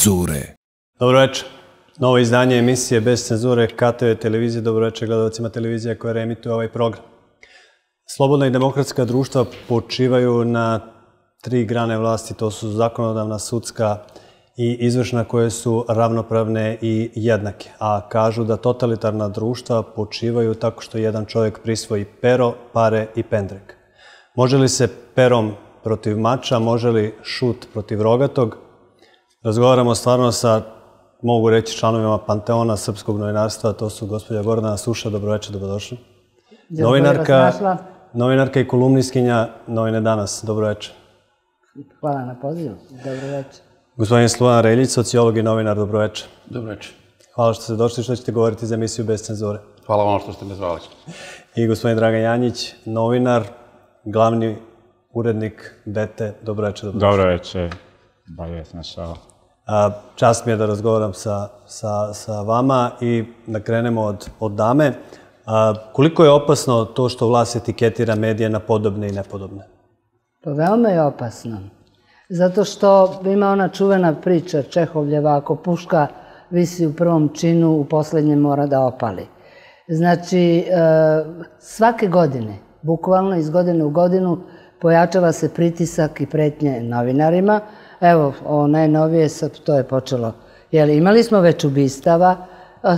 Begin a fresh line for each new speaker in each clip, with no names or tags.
cenzure.
Dobro večer. Novo izdanje emisije Bez cenzure KTV televizije. Dobro večer gledalcima televizija koja reemituje ovaj program. Slobodna i demokratska društva počivaju na 3 grane vlasti. To su zakonodavna, sudska i izvršna, koje su ravnopravne i jednake. A kažu da totalitarna društva počivaju tako što jedan čovjek prisvoji pero, pare i pendrek. Može li se perom protiv mača, može li šut protiv rogatog? Razgovaramo stvarno sa, mogu reći, članovima panteona srpskog novinarstva. To su gospođa Gordana Suša. Dobro večer, dobrodošli. Novinarka i kolumnistkinja Novine danas. Dobro večer.
Hvala na pozivu. Dobro večer.
Gospodin Slobodan Reljić, sociolog i novinar. Dobro večer.
Dobro večer.
Hvala što ste došli, što ćete govoriti za emisiju Bez cenzure.
Hvala vam što ste me zvali. I
gospodin Dragan Janjić, novinar, glavni urednik BT. Dobro večer.
Dobro večer. Bajet našao.
Čast mi je da razgovaram sa vama i da krenemo od dame. Koliko je opasno to što vlast etiketira medije na podobne i nepodobne?
Pa veoma je opasno. Zato što ima ona čuvena priča Čehovljeva, ako puška visi u prvom činu, u posljednjem mora da opali. Znači, svake godine, bukvalno iz godine u godinu, pojačava se pritisak i pretnje novinarima. Evo, ovo najnovije, to je počelo. Imali smo već ubistava,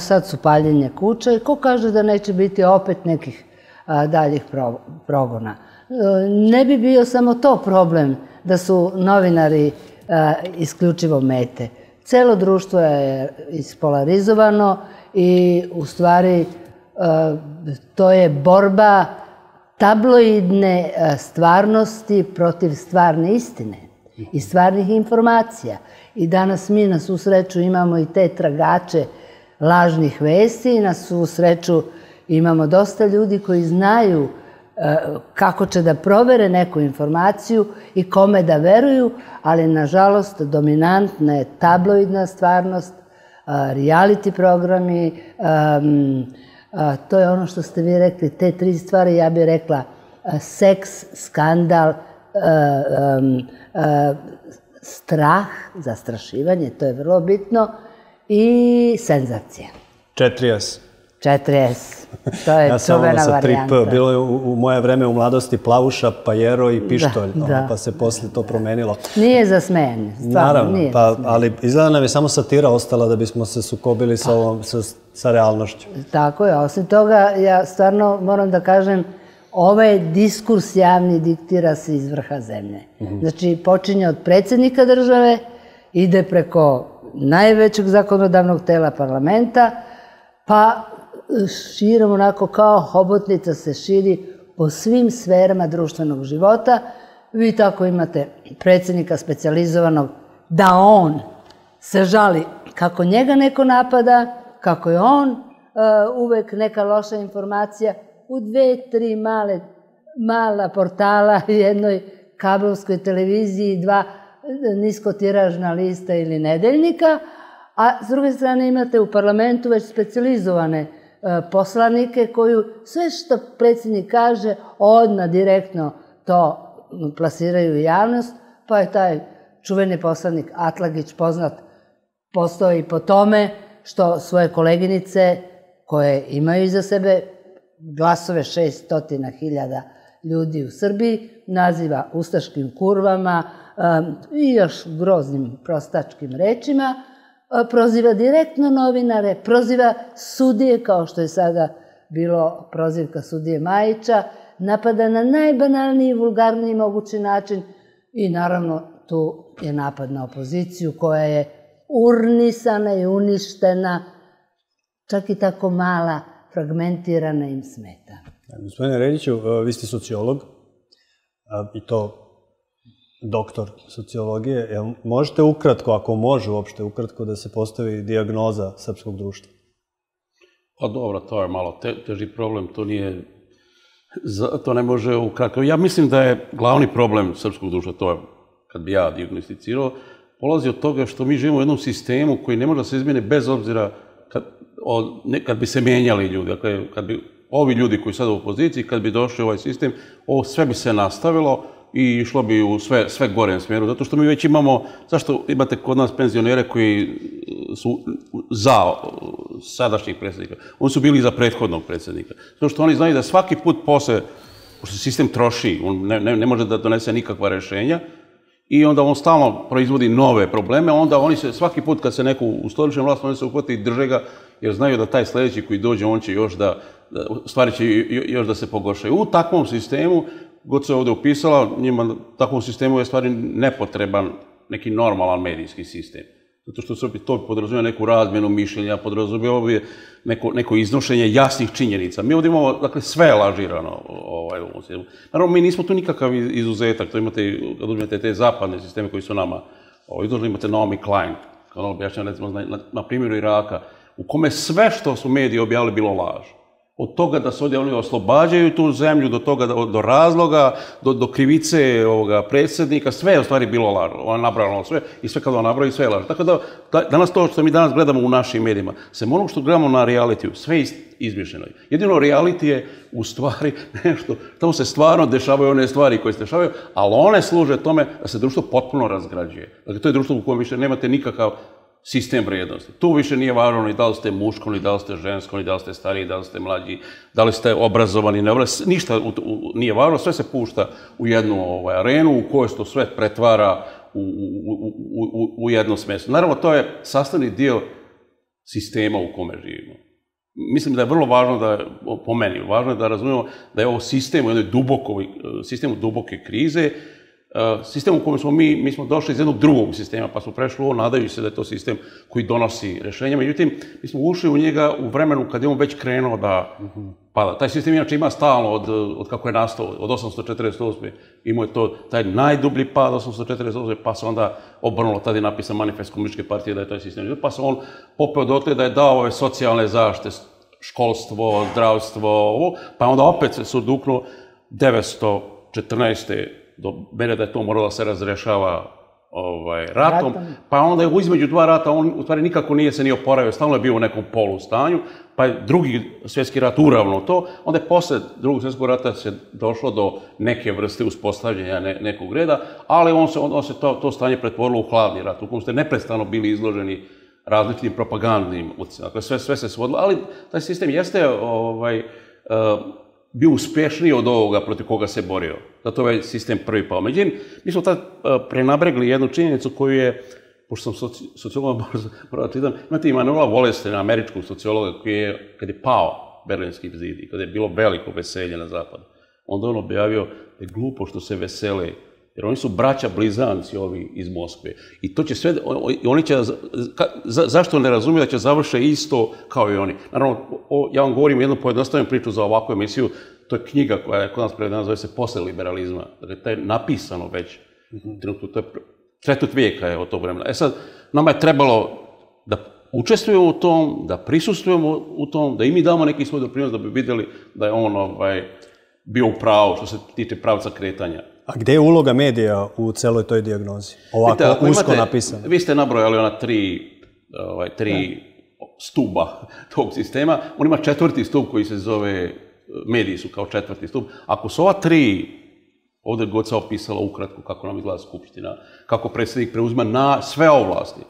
sad su paljenje kuća i ko kaže da neće biti opet nekih daljih progona. Ne bi bio samo to problem da su novinari isključivo mete. Celo društvo je ispolarizovano i u stvari to je borba tabloidne stvarnosti protiv stvarne istine i stvarnih informacija. I danas mi na svu sreću imamo i te tragače lažnih vesti i na svu sreću imamo dosta ljudi koji znaju kako će da provere neku informaciju i kome da veruju, ali nažalost dominantna je tabloidna stvarnost, reality programi, to je ono što ste vi rekli, te 3 stvari, ja bih rekla seks, skandal, strah, zastrašivanje, to je vrlo bitno, i senzacija.
4S.
4S. To je čuvena varijanta.
Bilo je u moje vreme u mladosti plavuša, pajero i pištolj, pa se poslije to promenilo.
Nije za smejanje, stvarno nije.
Naravno, ali izgleda nam je samo satira ostala da bismo se sukobili sa realnošću.
Tako je, osim toga ja stvarno moram da kažem, ovaj diskurs javni diktira se iz vrha zemlje. Znači, počinje od predsjednika države, ide preko najvećeg zakonodavnog tela parlamenta, pa širom onako kao hobotnica se širi po svim sferama društvenog života. Vi tako imate predsjednika specijalizovanog da on se žali kako njega neko napada, kako je on uvek neka loša informacija u 2-3 mala portala, jednoj kabelskoj televiziji, 2 niskotiražna lista ili nedeljnika, a s druge strane imate u parlamentu već specijalizovane poslanike koju sve što predsjednik kaže odmah direktno to plasiraju u javnost, pa je taj čuveni poslanik Atlagić poznat postoji po tome što svoje koleginice koje imaju iza sebe glasove 600.000 ljudi u Srbiji naziva ustaškim kurvama i još groznim prostačkim rečima, proziva direktno novinare, proziva sudije, kao što je sada bilo prozivka sudije Majića, napada na najbanalniji i vulgarniji mogući način i naravno tu je napad na opoziciju koja je urnisana i uništena, čak i tako mala, fragmentirana im smeta.
Gospodine Reljiću, vi ste sociolog i to doktor sociologije. Možete ukratko, ako može uopšte ukratko, da se postavi dijagnoza srpskog društva?
Pa dobro, to je malo teži problem, to ne može ukratko. Ja mislim da je glavni problem srpskog društva, to je, kad bi ja dijagnosticirao, polazi od toga što mi živimo u jednom sistemu koji ne može da se izmeni bez obzira kad bi se menjali ljudi. Dakle, kad bi ovi ljudi koji su sada u opoziciji, kad bi došli u ovaj sistem, ovo sve bi se nastavilo i išlo bi u sve gorem smjeru, zato što mi već imamo, zašto imate kod nas penzionere koji su za sadašnjih predsjednika, oni su bili za prethodnog predsjednika, zato što oni znaju da svaki put posle, pošto sistem troši, on ne može da donese nikakva rješenja, i onda on stalno proizvodi nove probleme, onda oni se svaki put kad se neko u stoličnoj vlasti, oni se uhvati i drže ga, jer znaju da taj sljedeći koji dođe, on će još stvari će još da se pogoršaju. U takvom sistemu, god se ovdje upisala, njima takvom sistemu je stvari nepotreban neki normalan medijski sistem. Zato što se to podrazumijeva neku razmjenu mišljenja, podrazumijeva bi neko iznošenje jasnih činjenica. Mi ovdje imamo, dakle, sve lažirano u ovom sistemu. Naravno, mi nismo tu nikakav izuzetak. To imate, kad uzmete te zapadne sisteme koji su nama izložili, imate Naomi Klein, kao objašnjava, recimo, na primjeru Iraka, u kome sve što su mediji objavili bilo laž. Od toga da se ovdje oni oslobađaju tu zemlju, do toga, do razloga, do krivice predsjednika, sve je u stvari bilo laž. Ona nabrala sve i sve kad ona nabravi, sve je laž. Tako da, danas to što mi danas gledamo u našim medijima, sem onog što gledamo na realitiju, sve je izmišljeno. Jedino reality je u stvari nešto, tamo se stvarno dešavaju one stvari koje se dešavaju, ali one služe tome da se društvo potpuno razgrađuje. Dakle, to je društvo u kojem više nemate nikakav sistem vrijednosti. Tu više nije važno ni da li ste muško, ni da li ste žensko, ni da li ste stariji, da li ste mlađi, da li ste obrazovani, neobrazovani, ništa nije važno, sve se pušta u jednu arenu u kojoj se to sve pretvara u jedno smesto. Naravno, to je sastavni dio sistema u kome živimo. Mislim da je vrlo važno po meni, važno je da razumijemo da je ovo sistem u jednoj sistemu duboke krize, sistem u kojem smo mi smo došli iz jednog drugog sistema, pa smo prešli ovo, nadajući se da je to sistem koji donosi rješenja. Međutim, mi smo ušli u njega u vremenu kad je on već krenuo da pada. Taj sistem inače ima stalno od kako je nastao, od 848. Imao je taj najdublji pad 848. pa se onda obrnulo, tada je napisan manifest Komunističke partije da je taj sistem. Pa se on popeo dotle da je dao ove socijalne zaštite, školstvo, zdravstvo, ovo, pa onda opet se oduknuo 914. do mene da je to moralo da se razrešava ratom, pa onda je između dva rata on u stvari nikako nije se ni oporavio, stalno je bio u nekom polustanju, pa je drugi svjetski rat uravno to, onda je posle drugog svjetskog rata se došlo do neke vrste uspostavljanja nekog reda, ali on se to stanje pretvorilo u hladni rat, u kojem ste neprestano bili izloženi različitim propagandnim utjecajima. Dakle, sve se svodilo, ali taj sistem jeste bio uspješniji od ovoga protiv koga se borio. Zato ovaj sistem prvi pao. Međutim, mi smo tad prenabregli jednu činjenicu koju je, pošto sam sociolog, moram čitam, imate Immanuela Wallersteina, američkog sociologa, koji je, kad je pao Berlinski zid i kad je bilo veliko veselje na zapadu, onda on objavio da je glupo što se vesele, jer oni su braća blizanci ovi iz Moskve. I to će sve, oni će, zašto ne razumiju da će završiti isto kao i oni? Naravno, ja vam govorim jednu pojednostavljenu priču za ovakvu emisiju, to je knjiga koja je kod nas prevedena, zove se Posle liberalizma. Dakle, to je napisano već, trenutno, to je četvrt vijeka je od tog vremena. E sad, nama je trebalo da učestvujemo u tom, da prisustvujemo u tom, da i mi damo neki svoj doprinos da bi vidjeli da je on bio u pravu što se tiče pravca kretanja.
A gdje je uloga medija u celoj toj dijagnozi? Ovako usko napisano.
Vi ste nabrojali ona tri stuba tog sistema. On ima četvrti stup koji se zove, mediji su kao četvrti stup. Ako su ova tri, ovdje god se opisala ukratko kako nam izgleda skupština, kako predsjednik preuzima na sve ovlasti.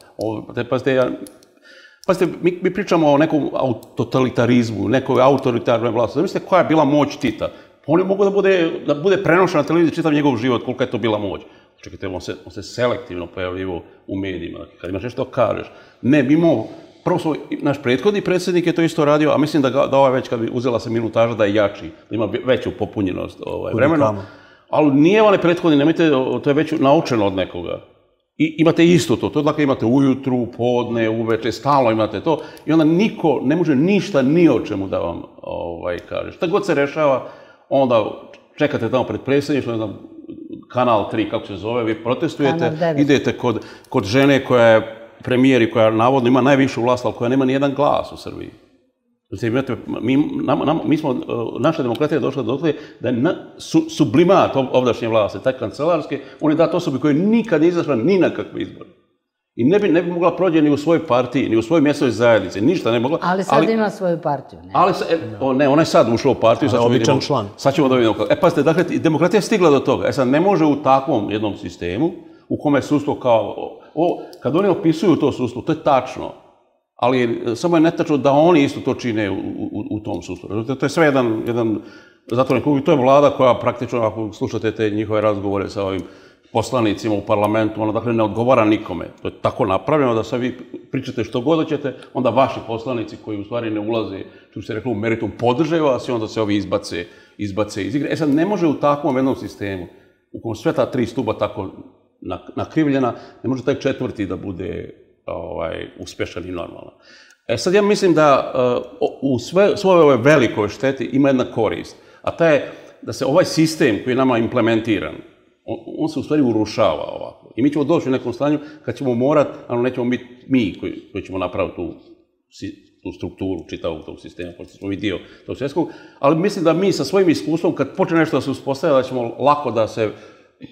Pazite, mi pričamo o nekom totalitarizmu, nekoj autoritarnoj vlasti. Zamislite koja je bila moć Tita. On je mogao da bude prenošen na televiziji čitav njegov život, kolika je to bila moć. Čekajte, on se selektivno pojavljivo u medijima, kad imaš nešto kažeš. Ne, prvo naš prethodni predsjednik je to isto radio, a mislim da ovaj već kad bi uzela se minutaža da je jači, da ima veću popunjenost vremena. Ali nije onaj prethodni, nemojte, to je već naučeno od nekoga. I imate isto to, dakle imate ujutru, podne, uveče, stalno imate to i onda niko ne može ništa ni o čemu da vam kaže. Šta god se rešava, onda čekate tamo pred predsjedništvom, kanal 3, kako se zove, vi protestujete, idete kod žene koja je premijer i koja navodno ima najvišu vlast, ali koja nema nijedan glas u Srbiji. Naša demokratija je došla do toga da je sublimat ovdašnje vlasti, taj kancelarske, on je dat osobi koja nikad nije izašla ni na kakve izbore. I ne bi mogla prođe ni u svojoj partiji, ni u svojoj mjesnoj zajednici, ništa ne mogla.
Ali sad ima svoju partiju, ne?
Ne, ona je sad ušla u partiju.
Običan član.
Sad ćemo da vidimo. Pazite, dakle, demokratija je stigla do toga. Sad, ne može u takvom jednom sistemu, u kome je sudstvo kao... Kad oni opisuju to sudstvo, to je tačno. Ali samo je netačno da oni isto to čine u tom sudstvu. To je sve jedan zatvoren krug i to je vlada koja praktično, ako slušate te njihove razgovore sa ovim poslanicima u parlamentu, ona dakle ne odgovara nikome. To je tako napravljeno da sad vi pričate što god hoćete, onda vaši poslanici koji u stvari ne ulaze, što bi se reklo, u meritum podrže vas i onda se ovi izbace iz igre. Sad ne može u takvom jednom sistemu, u kojem sve ta tri stuba tako nakrivljena, ne može taj četvrti da bude uspješan i normalan. Sad ja mislim da u svoj ovoj velikoj šteti ima jedna korist, a ta je da se ovaj sistem koji je nama implementiran, on se u stvari urušava ovako. I mi ćemo doći u nekom stanju kad ćemo morati, ali nećemo biti mi koji ćemo napraviti tu strukturu čitavog tog sistema, pošto smo mi dio tog svjetskog, ali mislim da mi sa svojim iskustvom, kad počne nešto da se uspostavlja, da ćemo lako da se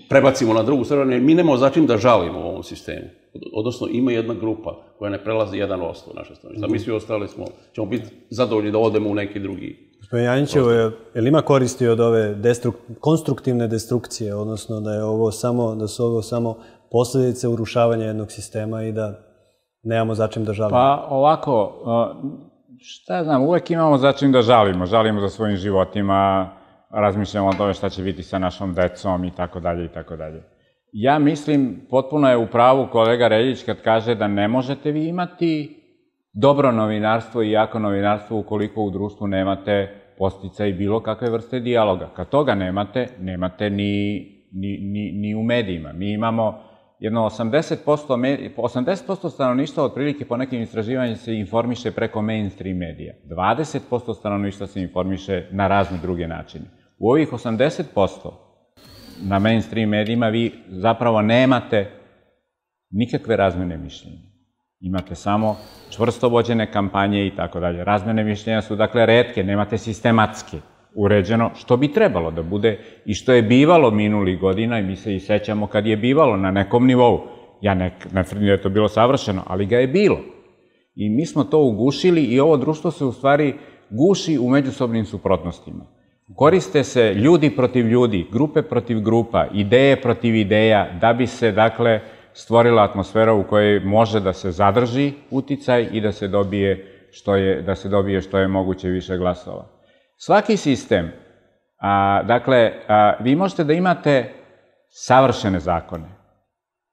prebacimo na drugu stranu, jer mi nemamo začin da žalimo u ovom sistemu. Odnosno, ima jedna grupa koja ne prelazi 1% naše strane. Mi svi ostali ćemo biti zadovoljni da odemo u neki drugi.
Gospodin Janjićevo, je li ima koristi od ove konstruktivne destrukcije, odnosno da su ovo samo posljedice urušavanja jednog sistema i da nemamo začin da žalimo?
Pa ovako, šta znam, uvek imamo začin da žalimo. Žalimo za svojim životima, razmišljamo o tome šta će biti sa našom decom i tako dalje i tako dalje. Ja mislim, potpuno je u pravu kolega Reljić kad kaže da ne možete vi imati dobro novinarstvo i jako novinarstvo ukoliko u društvu nemate podsticaj bilo kakve vrste dijaloga. Kad toga nemate ni u medijima. Mi imamo jedno 80% stanovništva otprilike po nekim istraživanjima se informiše preko mainstream medija. 20% stanovništva se informiše na razne druge načine. U ovih 80% na mainstream medijima vi zapravo nemate nikakve razmjene mišljenja. Imate samo čvrsto vođene kampanje i tako dalje. Razmjene mišljenja su dakle retke, nemate sistematski uređeno, što bi trebalo da bude i što je bivalo minulih godina i mi se i sećamo kad je bivalo na nekom nivou. Ja ne tvrdim da je to bilo savršeno, ali ga je bilo. I mi smo to ugušili i ovo društvo se u stvari guši u međusobnim suprotnostima. Koriste se ljudi protiv ljudi, grupe protiv grupa, ideje protiv ideja, da bi se, dakle, stvorila atmosfera u kojoj može da se zadrži uticaj i da se dobije što je moguće više glasova. Svaki sistem, dakle, vi možete da imate savršene zakone,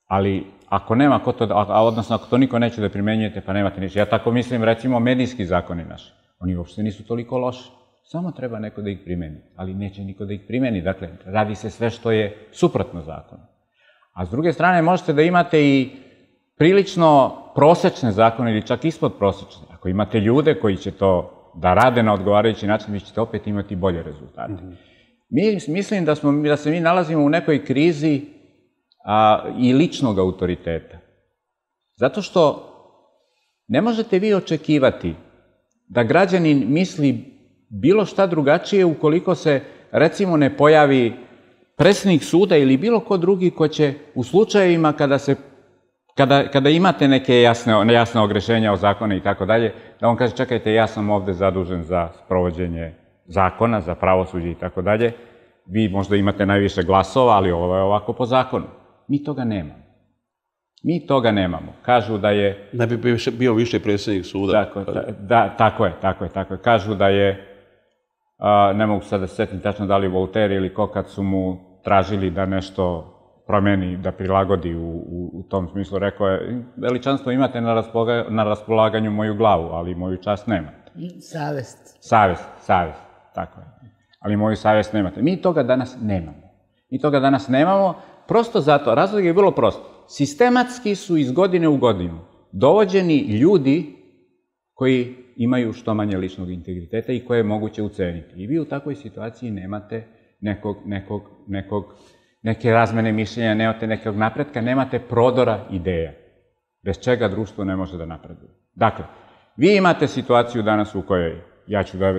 ali ako nema ko to, odnosno ako to niko neće da primenjujete, pa nemate ništa. Ja tako mislim, recimo, medijski zakoni naši. Oni uopšte nisu toliko loši. Samo treba neko da ih primeni, ali neće niko da ih primeni. Dakle, radi se sve što je suprotno zakonu. A s druge strane, možete da imate i prilično prosečne zakone ili čak ispod prosečne. Ako imate ljude koji će to da rade na odgovarajući način, vi ćete opet imati bolje rezultate. Mislim da se mi nalazimo u nekoj krizi i ličnog autoriteta. Zato što ne možete vi očekivati da građanin misli bilo šta drugačije ukoliko se, recimo, ne pojavi predsjednik suda ili bilo ko drugi ko će u slučajevima kada imate neke jasne ogrešenja o zakone i tako dalje, da on kaže, čekajte, ja sam ovde zadužen za sprovođenje zakona, za pravosuđe i tako dalje, vi možda imate najviše glasova, ali ovo je ovako po zakonu. Mi toga nemamo. Mi toga nemamo. Kažu da je...
Ne bi bio više predsjednik suda.
Tako je. Kažu da je, ne mogu sad da se setim tačno da li Voltaire ili ko, kad su mu tražili da nešto promeni, da prilagodi u tom smislu, rekao je, veličanstvo imate na raspolaganju moju glavu, ali moju čast nemate. Savest, tako je. Ali moju savest nemate. Mi toga danas nemamo. Prosto zato, razlog je vrlo prost. Sistematski su iz godine u godinu dovođeni ljudi koji imaju što manje ličnog integriteta i koje je moguće uceniti. I vi u takvoj situaciji nemate neke razmene mišljenja, nemate nekog napretka, nemate prodora ideja, bez čega društvo ne može da napreduje. Dakle, vi imate situaciju danas u kojoj, ja ću da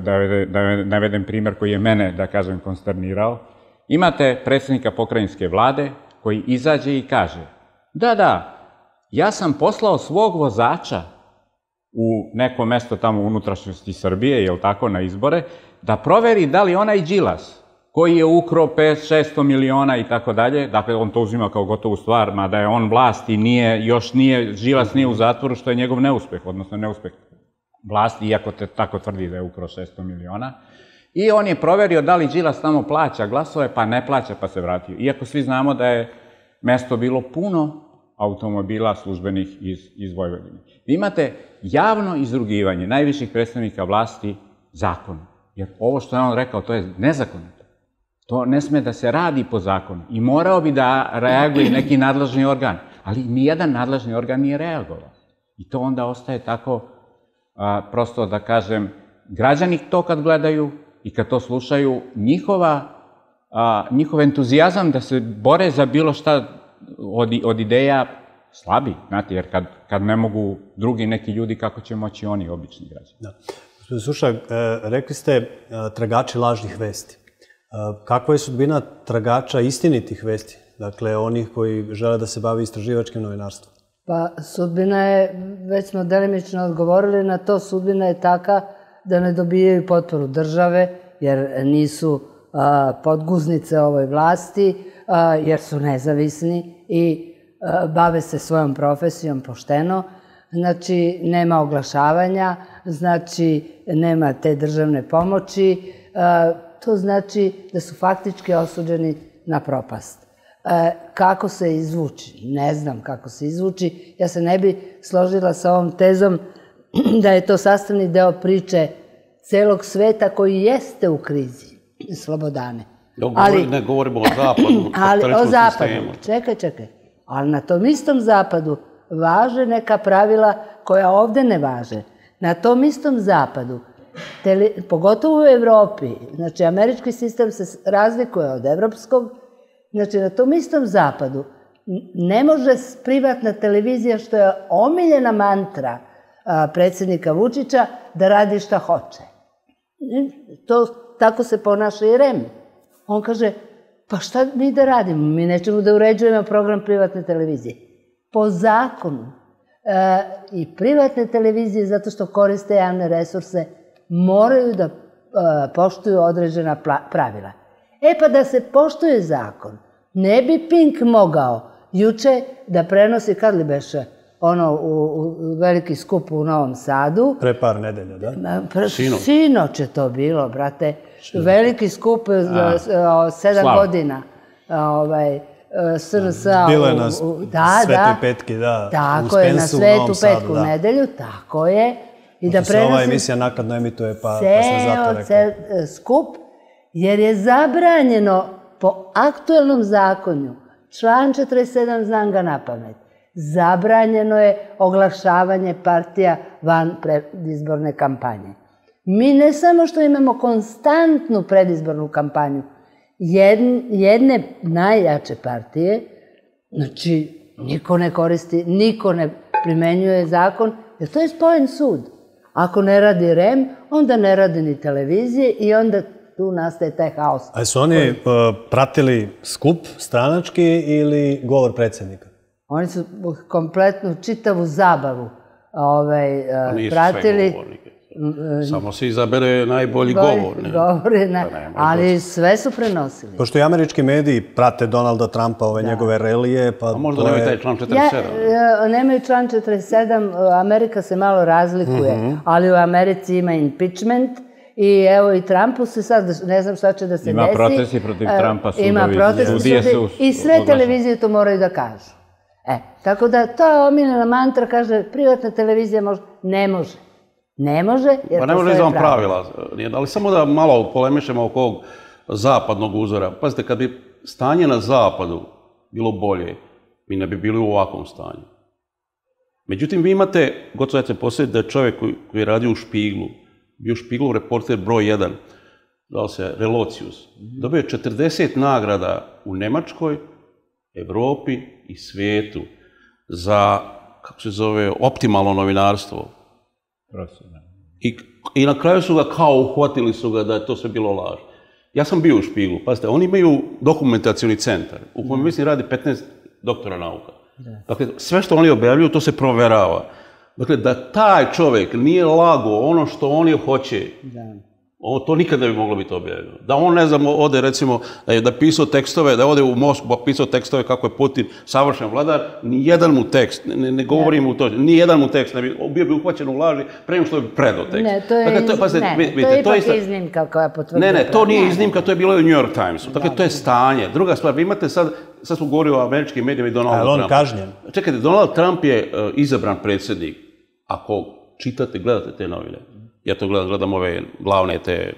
navedem primer koji je mene, da kažem, konsternirao, imate predsjednika pokrajinske vlade koji izađe i kaže, da, ja sam poslao svog vozača u neko mesto tamo u unutrašnjosti Srbije, jel tako, na izbore, da proveri da li onaj Đilas, koji je ukrao 500-600 miliona i tako dalje, dakle on to uzima kao gotovu stvar, mada je on vlast i Đilas nije u zatvoru, što je njegov neuspeh, odnosno neuspeh vlasti, iako te tako tvrdi da je ukrao 600 miliona. I on je proverio da li Đilas tamo plaća glasove, pa ne plaća, pa se vratio. Iako svi znamo da je mesto bilo puno automobila službenih iz Vojvodine. Vi imate javno izrugivanje najviših predstavnika vlasti zakonu. Jer ovo što je on rekao, to je nezakonito. To ne sme da se radi po zakonu. I morao bi da reaguje neki nadležni organ. Ali nijedan nadležni organ nije reagovao. I to onda ostaje tako, prosto da kažem, građani to kad gledaju i kad to slušaju, njihov entuzijazam da se bore za bilo šta od ideja slabi, znate, jer kad ne mogu drugi neki ljudi, kako će moći oni, obični građani.
Da. Gospodin Suša, rekli ste tragači lažnih vesti. Kakva je sudbina tragača istinitih vesti? Dakle, onih koji žele da se bave istraživačkim novinarstvom.
Pa sudbina je, već smo delimično odgovorili na to, sudbina je taka da ne dobijaju potporu države, jer nisu podguznice ovoj vlasti, jer su nezavisni i bave se svojom profesijom pošteno. Znači, nema oglašavanja, znači, nema te državne pomoći. To znači da su faktički osuđeni na propast. Kako se izvući? Ne znam kako se izvući. Ja se ne bi složila sa ovom tezom da je to sastavni deo priče celog sveta koji jeste u krizi, Slobodane.
Ne govorimo o zapadu,
ali o zapadu. Čekaj. Ali na tom istom zapadu važe neka pravila koja ovde ne važe. Na tom istom zapadu, pogotovo u Evropi, znači američki sistem se razlikuje od evropskog, znači na tom istom zapadu ne može privatna televizija, što je omiljena mantra predsjednika Vučića, da radi šta hoće. Tako se ponaša i REM. On kaže, pa šta mi da radimo? Mi nećemo da uređujemo program privatne televizije. Po zakonu i privatne televizije, zato što koriste javne resurse, moraju da poštuju određena pravila. Pa da se poštuje zakon, ne bi Pink mogao juče da prenosi, kad li beše, u veliki skup u Novom Sadu.
Pre par nedelja, da?
Sinoć je to bilo, brate. Veliki skup za 7 godina. SNS-a.
Bilo je na Svetoj petki, da.
Tako je, na Svetu petku u nedelju, tako je.
Pošto se ova emisija nakladno emituje, pa sam zato rekao.
Ceo skup, jer je zabranjeno po aktuelnom zakonju, član 47, znam ga napamet, zabranjeno je oglašavanje partija van predizborne kampanje. Mi ne samo što imamo konstantnu predizbornu kampanju, jedne najjače partije, znači niko ne koristi, niko ne primenjuje zakon, jer to je spojen sud. Ako ne radi REM, onda ne radi ni televizije i onda tu nastaje taj haos.
A su oni pratili skup stranački ili govor predsjednika?
Oni su kompletnu čitavu zabavu pratili.
Samo se izabere najbolji govor.
Ali sve su prenosili.
Pošto i američki mediji prate Donalda Trumpa, ove njegove relije, pa...
A možda nemaju taj član 47?
Nemaju član 47, Amerika se malo razlikuje, ali u Americi ima impeachment i evo i Trumpu se sad, ne znam šta će da se desi.
Ima protesti protiv Trumpa,
sudovi, i sve televizije to moraju da kažu. Tako da to omiljena mantra kaže privatna televizija može, ne može. Ne može, jer
pa ne može izvan pravila. Ali samo da malo polemišemo oko ovog zapadnog uzora. Pazite, kad bi stanje na zapadu bilo bolje, mi ne bi bili u ovakvom stanju. Međutim, vi imate, gotovo se posjetiti da je čovjek koji je radio u Špiglu, bio Špiglov reporter broj 1, zvao se Relocius, dobio je 40 nagrada u Nemačkoj, Evropi i svijetu za, kako se zove, optimalno novinarstvo. I na kraju su ga kao uhvatili su ga da je to sve bilo laž. Ja sam bio u Špiglu, pazite, oni imaju dokumentacioni centar u kojem mislim radi 15 doktora nauka. Dakle, sve što oni objavljuju, to se proverava. Dakle, da taj čovjek nije lago ono što oni hoće, to nikad ne bi moglo biti objavljeno. Da on, ne znam, ode recimo, da pisao tekstove, da ode u Moskvu pa pisao tekstove kako je Putin savršen vladar, ni jedan mu tekst, ne govorim mu to, ni jedan mu tekst, bio bi uhvaćen u laži prema što bi predao tekst.
Ne, to je ipak iznimka koja potvrđuje.
Ne, to nije iznimka, to je bilo i u New York Timesu. Dakle, to je stanje. Druga stvar, vi imate sad smo govorili o američkim medijima i Donaldu Trumpu.
Ali on kažnjen.
Čekajte, Donald Trump je izabran predsjednik. Ako čitate, gledate te novine, ja to gledam ove glavne te,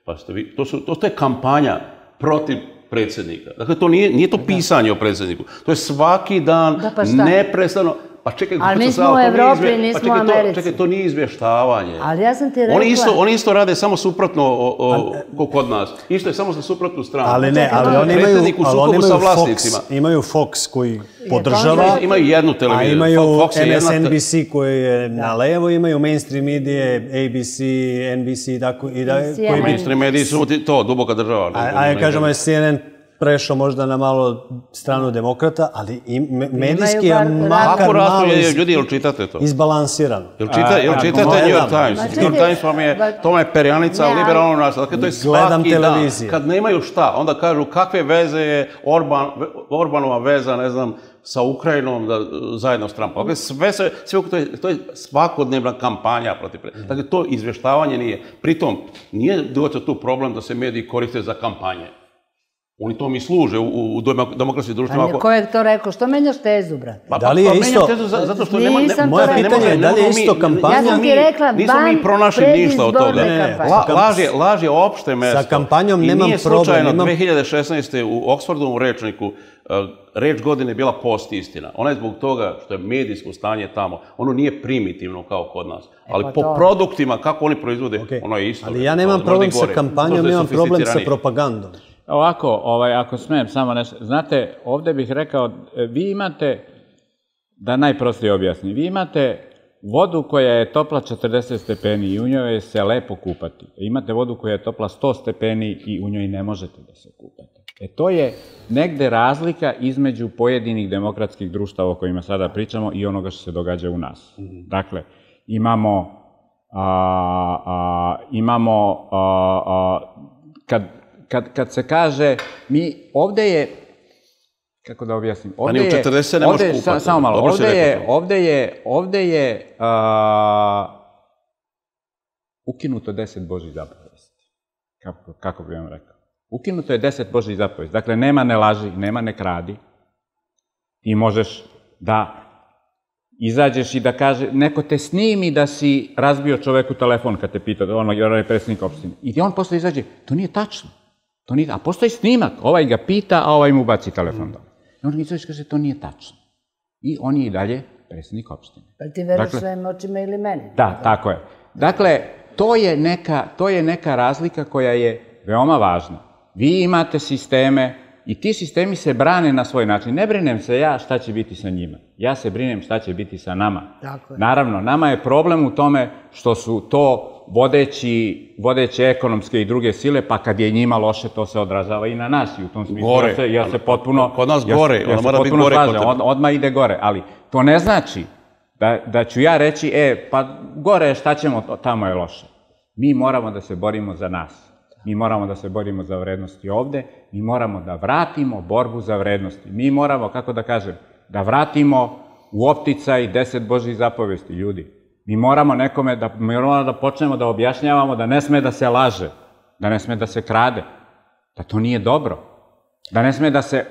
pa ste vi, to je kampanja protiv predsjednika. Dakle, to nije to pisanje o predsjedniku. To je svaki dan, neprestano. Pa čekaj,
ali mi smo u Evropi, nismo u Americi.
Čekaj, to nije izvještavanje.
Ali ja sam ti rekla...
Oni isto rade samo suprotno kod nas. Isto je samo za suprotnu stranu.
Ali ne, ali oni imaju Fox koji podržava.
Imaju jednu televiziju.
A imaju MSNBC koji je na levo, imaju mainstream medije, ABC, NBC i tako.
Mainstream mediji su to, duboka država.
A kažemo je CNN prešao možda na malo stranu demokrata, ali medijski je makar malo izbalansiran.
Jel čitate New York Times? New York Times to je perjanica liberalnog nasilja. Dakle, to je svaki dan. Kad nemaju šta, onda kažu kakve veze je Orbanova veza, ne znam, sa Ukrajinom zajedno s Trumpom. Dakle, to je svakodnevna kampanja protiv predsjednika. Dakle, to izvještavanje nije. Pritom, nije doći tu problem da se mediji koriste za kampanje. Oni to mi služe u demokratskim društvima.
Ko je to rekao? Što menjaš tezu, brate?
Da li je isto...
Zato što
moje pitanje je da li je isto kampanja...
Ja sam ti rekla,
nismo mi pronašli ništa od toga. Laž je opšte mesto.
Sa kampanjom nemam problem.
I nije slučajno 2016. u Oxfordovom rečniku reč godine je bila post-istina. Ona je zbog toga što je medijsko stanje tamo. Ono nije primitivno kao kod nas. Ali po produktima, kako oni proizvode, ono je isto.
Ali ja nemam problem sa kampanjom, imam problem sa propagandom.
Ovako, ako smijem samo nešto, znate, ovdje bih rekao, vi imate, da najprostije objasnim, vi imate vodu koja je topla 40 stepeni i u njoj se lepo kupati. Imate vodu koja je topla 100 stepeni i u njoj ne možete da se kupate. To je negde razlika između pojedinih demokratskih društava o kojima sada pričamo i onoga što se događa u nas. Dakle, kad se kaže, mi ovdje je, kako da objasnim,
ovdje je, 40 ne možeš kupati.
Samo malo, ovdje je ukinuto 10 Božjih zapovesti. Kako bi vam rekao? Ukinuto je 10 Božjih zapovesti. Dakle, nema ne laži, nema ne kradi. Ti možeš da izađeš i da kaže, neko te snimi da si razbio čoveku telefon kad te pita, ono je predsjednik opštine. I on posle izađe, to nije tačno. A postoji snimak, ovaj ga pita, a ovaj mu baci telefon. I on izađe i kaže, to nije tačno. I on je i dalje predsjednik opštine.
Pa ti veriš svojim očima ili meni?
Da, tako je. Dakle, to je neka razlika koja je veoma važna. Vi imate sisteme i ti sistemi se brane na svoj način. Ne brinem se ja šta će biti sa njima. Ja se brinem šta će biti sa nama. Naravno, nama je problem u tome što su to vodeće ekonomske i druge sile, pa kad je njima loše, to se odražava i na nas. I u tom smislu ja se potpuno...
Kod nas gore, ono mora biti gore.
Odmah ide gore, ali to ne znači da ću ja reći, pa gore šta ćemo, tamo je loše. Mi moramo da se borimo za nas. Mi moramo da se borimo za vrednosti ovde, mi moramo da vratimo borbu za vrednosti. Mi moramo, kako da kažem, da vratimo u opticaj 10 Božjih zapovesti, ljudi. Mi moramo nekome da počnemo da objašnjavamo da ne sme da se laže, da ne sme da se krade, da to nije dobro,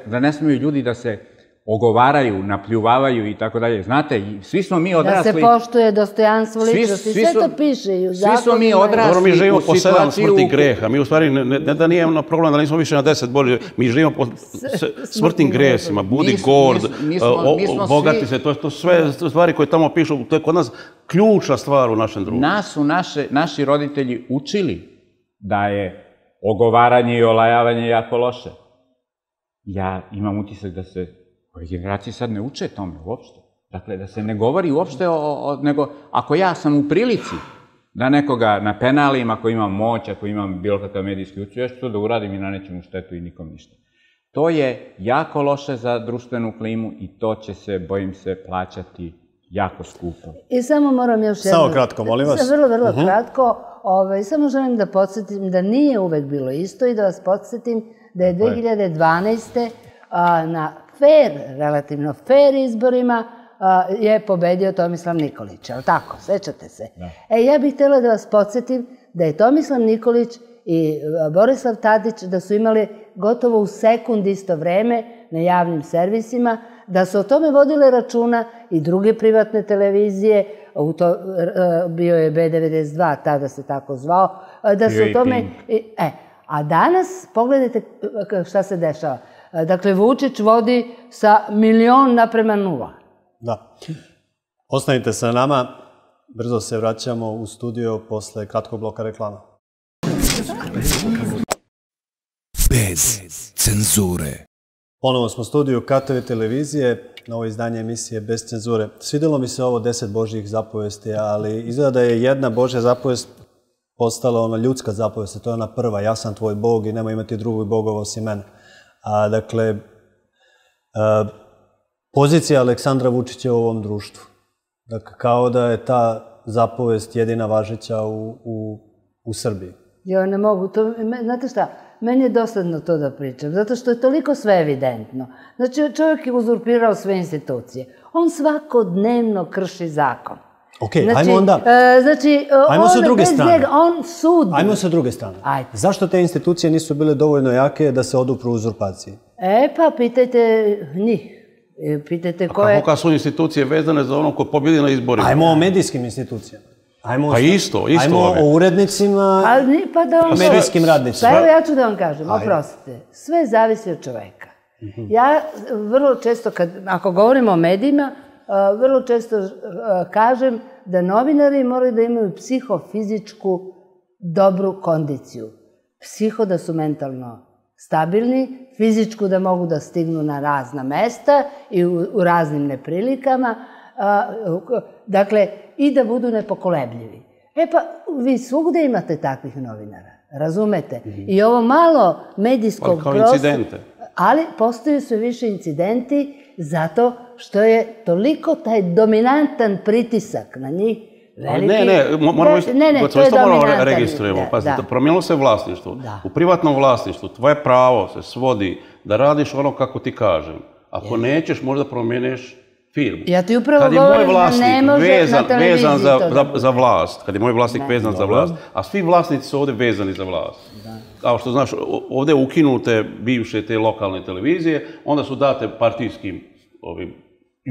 da ne smeju ljudi da se ogovaraju, napljuvavaju i tako dalje. Znate, svi smo mi odrasli...
Da se poštuje dostojanstvo ličnosti, sve to piše i u zakonima.
Svi smo mi odrasli
mi živimo po 7 smrtnih greha. Mi u stvari, ne da nije problem da nismo više na 10 Božjih, mi živimo po smrtnim grehima, budi gord, bogati se, to sve stvari koje tamo pišu, to je kod nas ključna stvar u našem društvu.
Nas su naši roditelji učili da je ogovaranje i olajavanje jako loše. Ja imam utisak da se ove generacije sad ne uče tome uopšte. Dakle, da se ne govori uopšte nego ako ja sam u prilici da nekoga napenalim, ako imam moć, ako imam bilo kakav medijski učiv, ja ću to da uradim i nanećem u štetu i nikom ništa. To je jako loše za društvenu klimu i to će se, bojim se, plaćati jako skupo.
I samo moram još jedno...
Samo kratko, molim vas.
Vrlo kratko. Samo želim da podsjetim da nije uvek bilo isto i da vas podsjetim da je 2012. na relativno fair izborima je pobedio Tomislav Nikolić, je li tako? Sećate se? Ja bih htjela da vas podsjetim da je Tomislav Nikolić i Borislav Tadić da su imali gotovo u sekund isto vreme na javnim servisima, da su o tome vodile računa i druge privatne televizije, bio je B92, tada se tako zvao, da su o tome... A danas, pogledajte šta se dešava. Dakle, Vučić vodi sa 1.000.000:0.
Da. Ostanite sa nama, brzo se vraćamo u studio posle kratkog bloka reklama.
Bez cenzure.
Ponovo smo u studiju KTV televizije, novo izdanje emisije Bez cenzure. Svidelo mi se ovo 10 Božjih zapovesti, ali izgleda da je jedna Božja zapovest postala ona ljudska zapovest, to je ona prva, ja sam tvoj Bog i nemoj imati drugog bogova osim mene. Dakle, pozicija Aleksandra Vučića u ovom društvu. Dakle, kao da je ta zapovest jedina važeća u Srbiji.
Jo, ne mogu. Znate šta, meni je dosadno to da pričam, zato što je toliko sve evidentno. Znači, čovjek je uzurpirao sve institucije. On svakodnevno krši zakon.
Ok, ajmo onda... Ajmo sa druge strane.
On sudi.
Ajmo sa druge strane. Zašto te institucije nisu bile dovoljno jake da se odupru uzurpaciji?
Pa pitajte njih. Pitajte ko je...
A kako su institucije vezane za ono ko pobjedi na izborima?
Ajmo o medijskim institucijama.
Pa isto.
Ajmo o urednicima i medijskim radnicima.
Pa evo ja ću da vam kažem, oprostite, sve zavisi od čoveka. Ja vrlo često, ako govorimo o medijima, vrlo često kažem da novinari moraju da imaju psihofizičku dobru kondiciju. Psiho da su mentalno stabilni, fizičku da mogu da stignu na razna mesta i u raznim neprilikama, dakle, i da budu nepokolebljivi. Pa, vi svugde imate takvih novinara, razumete? I ovo malo medijskog prostora...
Ali kao incidente.
Ali postoje sve više incidenti zato što je toliko taj dominantan pritisak na njih veliki...
To isto moramo registrujemo. Pazite, promijenilo se vlasništvo. U privatnom vlasništvu tvoje pravo se svodi da radiš ono kako ti kažem. Ako nećeš, možda promijeniš firmu.
Ja ti upravo govorim da ne može na televiziji to.
Za vlast, kad je moj vlasnik vezan za vlast, a svi vlasnici su ovdje vezani za vlast. Kao što znaš, ovdje ukinute bivše te lokalne televizije, onda su date partijskim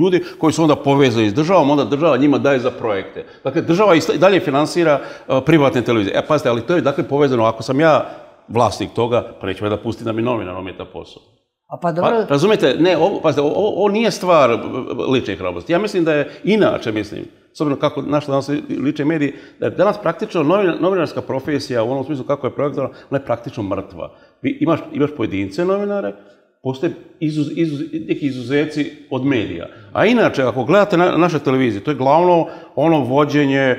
ljudi koji su onda povezani s državom, onda država njima daje za projekte. Dakle, država i dalje finansira privatne televizije. Pazite, ali to je dakle povezano. Ako sam ja vlasnik toga, pa neću me da pusti da mi novinar ometa posao. Razumijete, pazite, ovo nije stvar lične hrabrosti. Ja mislim da je inače, s obzirom kako našli danas lične mediji, da je danas praktično novinarska profesija u onom smislu kako je projektovana, ona je praktično mrtva. Imaš pojedince novinare, postoje neki izuzeci od medija. A inače, ako gledate naše televizije, to je glavno ono vođenje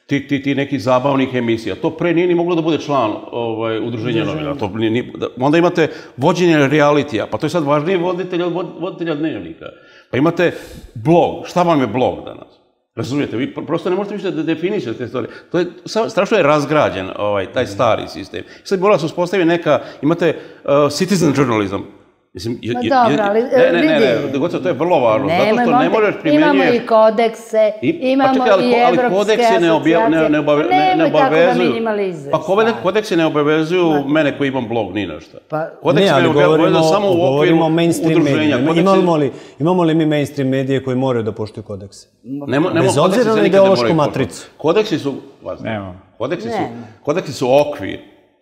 ti nekih zabavnih emisija. To pre nije ni moglo da bude član udruženja novinara. Onda imate vođenje realitija, pa to je sad važnije voditelja dnevnika. Pa imate blog. Šta vam je blog danas? Razumijete, vi prosto ne možete više da definišete te stvari. To je, strašno je razgrađen taj stari sistem. Sad mora se uspostaviti neka, imate citizen journalism.
Dobro, ali vidi.
To je vrlo važno, zato što ne možeš primjenjuješ...
Imamo i kodekse, imamo i evropske asocijacije. Nemoj tako da minimalizuješ.
Pa kodeksi ne obavezuju mene koji imam blog, ni našta.
Ne, ali govorimo o mainstream medijima. Imamo li mi mainstream medije koji moraju da poštuju kodekse? Bez obzira na ideološku matricu.
Kodeksi su okvir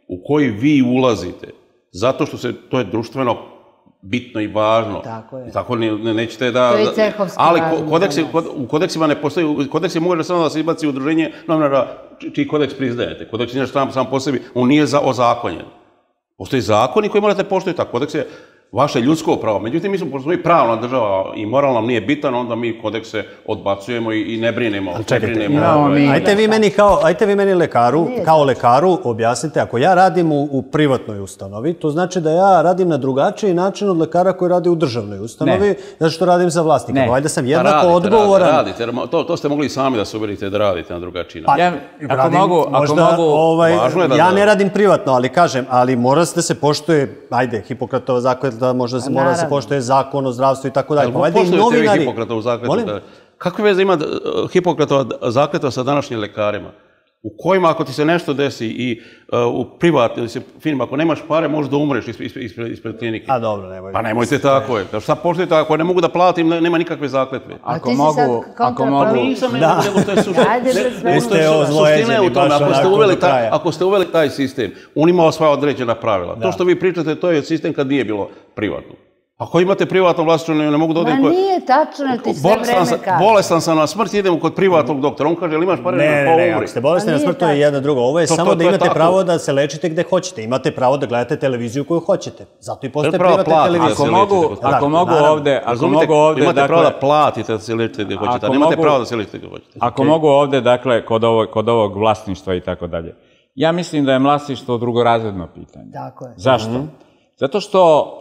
u koji vi ulazite, zato što to je društveno bitno i važno.
Tako je.
Tako nećete da...
To je cehovski
ali u kodeksima ne postoji... U kodeksi može samo da se izbaci udruženje novinara čiji kodeks priznajete. Kodeks nije sam po sebi, on nije ozakonjen. Postoji zakoni koji morate poštovati, a kodeks je vaše ljudsko pravo. Međutim, mi smo, pošto smo i pravna država i moral nam nije bitan, onda mi kodekse odbacujemo i ne brinemo.
Ajte vi meni kao lekaru objasnite, ako ja radim u privatnoj ustanovi, to znači da ja radim na drugačiji način od lekara koji radi u državnoj ustanovi, zato što radim za vlasnika. Valjda sam jednako odgovoran.
Radite, to ste mogli sami da se uverite da radite na drugačiji način.
Ja ne radim privatno, ali kažem, ali mora da se poštuje, ajde, Hipokratova zakletva, mora da se poštuje zakon o zdravstvu i tako dalje.
Poštujete vi Hipokratovu zakletvu? Kakve veze ima Hipokratova zakletva sa današnjim lekarima? U kojima, ako ti se nešto desi i u privatnim firmama, ako nemaš pare, možeš da umreš ispred klinike.
A dobro, nemojte.
Pa nemojte tako. Šta poštujete, ako ne mogu da platim, nema nikakve zakletve.
Ako mogu...
Nisam nego to je suština.
Niste ozlojeđeni baš onako do kraja.
Ako ste uveli taj sistem, on ima svoja određena pravila. To što vi pričate, to je sistem kad nije bilo privatno. Ako imate privatno vlasništvo, ne mogu da odem...
Ma nije tačno, ti sve vreme kažeš.
Bolestan sam na smrt, idem kod privatnog doktora. On kaže, ali imaš pare na
umri? Ne, ako ste bolesni na smrt, to je jedno drugo. Ovo je samo da imate pravo da se lečite gde hoćete. Imate pravo da gledate televiziju koju hoćete. Zato i postoje privatne televizije.
Ako mogu ovde...
Imate pravo da platite da se lečite gde hoćete, a nemate pravo da se lečite gde hoćete.
Ako mogu ovde, dakle, kod ovog vlasništva i tako dalje. Ja mislim da je vlasništvo drugorazredno pitanje.
Tako je.
Zašto? Zato što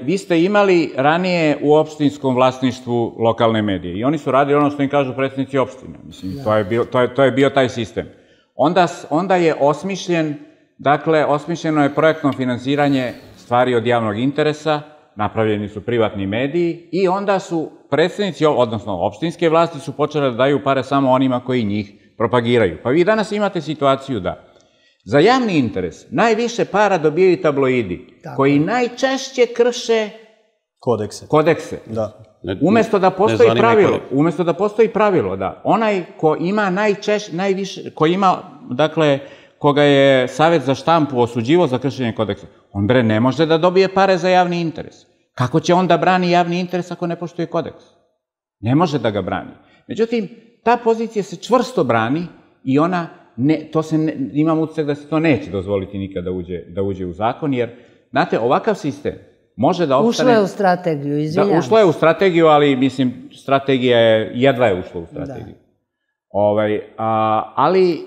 vi ste imali ranije u opštinskom vlasništvu lokalne medije i oni su radili ono što im kažu predsjednici opštine. Mislim, to je bio taj sistem. Onda je osmišljeno je projektno finansiranje stvari od javnog interesa, napravljeni su privatni mediji i onda su predsjednici, odnosno opštinske vlasti su počele da daju pare samo onima koji njih propagiraju. Pa vi danas imate situaciju da za javni interes najviše para dobijaju tabloidi, koji najčešće krše kodekse. Umesto da postoji pravilo, da onaj ko ima najviše, koga je Savjet za štampu osuđivo za kršenje kodeksa, on ne može da dobije pare za javni interes. Kako će onda brani javni interes ako ne poštuje kodeks? Ne može da ga brani. Međutim, ta pozicija se čvrsto brani i ona imam utisak da se to neće dozvoliti nikad da uđe u zakon, jer, znate, ovakav sistem može da ostane...
Ušlo je u strategiju, izvinjam se.
Ušlo je u strategiju, ali, mislim, strategija je, jedva je ušla u strategiju. Ali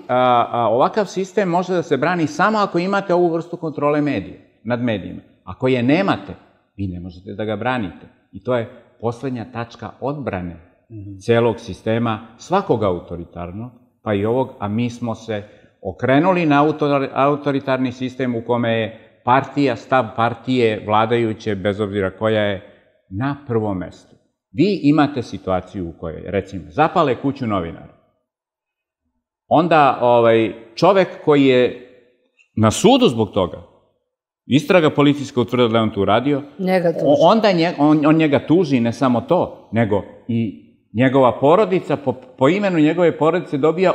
ovakav sistem može da se brani samo ako imate ovu vrstu kontrole nad medijima. Ako je nemate, vi ne možete da ga branite. I to je poslednja tačka odbrane celog sistema, svakog autoritarnog, pa i ovog, a mi smo se okrenuli na autoritarni sistem u kome je stav partije vladajuće, bez obzira koja je, na prvom mestu. Vi imate situaciju u kojoj, recimo, zapale kuću novinara. Onda čovek koji je na sudu zbog toga, istraga policijska utvrdila da je on to uradio, onda on njega tuži, ne samo to, nego i njegova porodica, po imenu njegove porodice dobija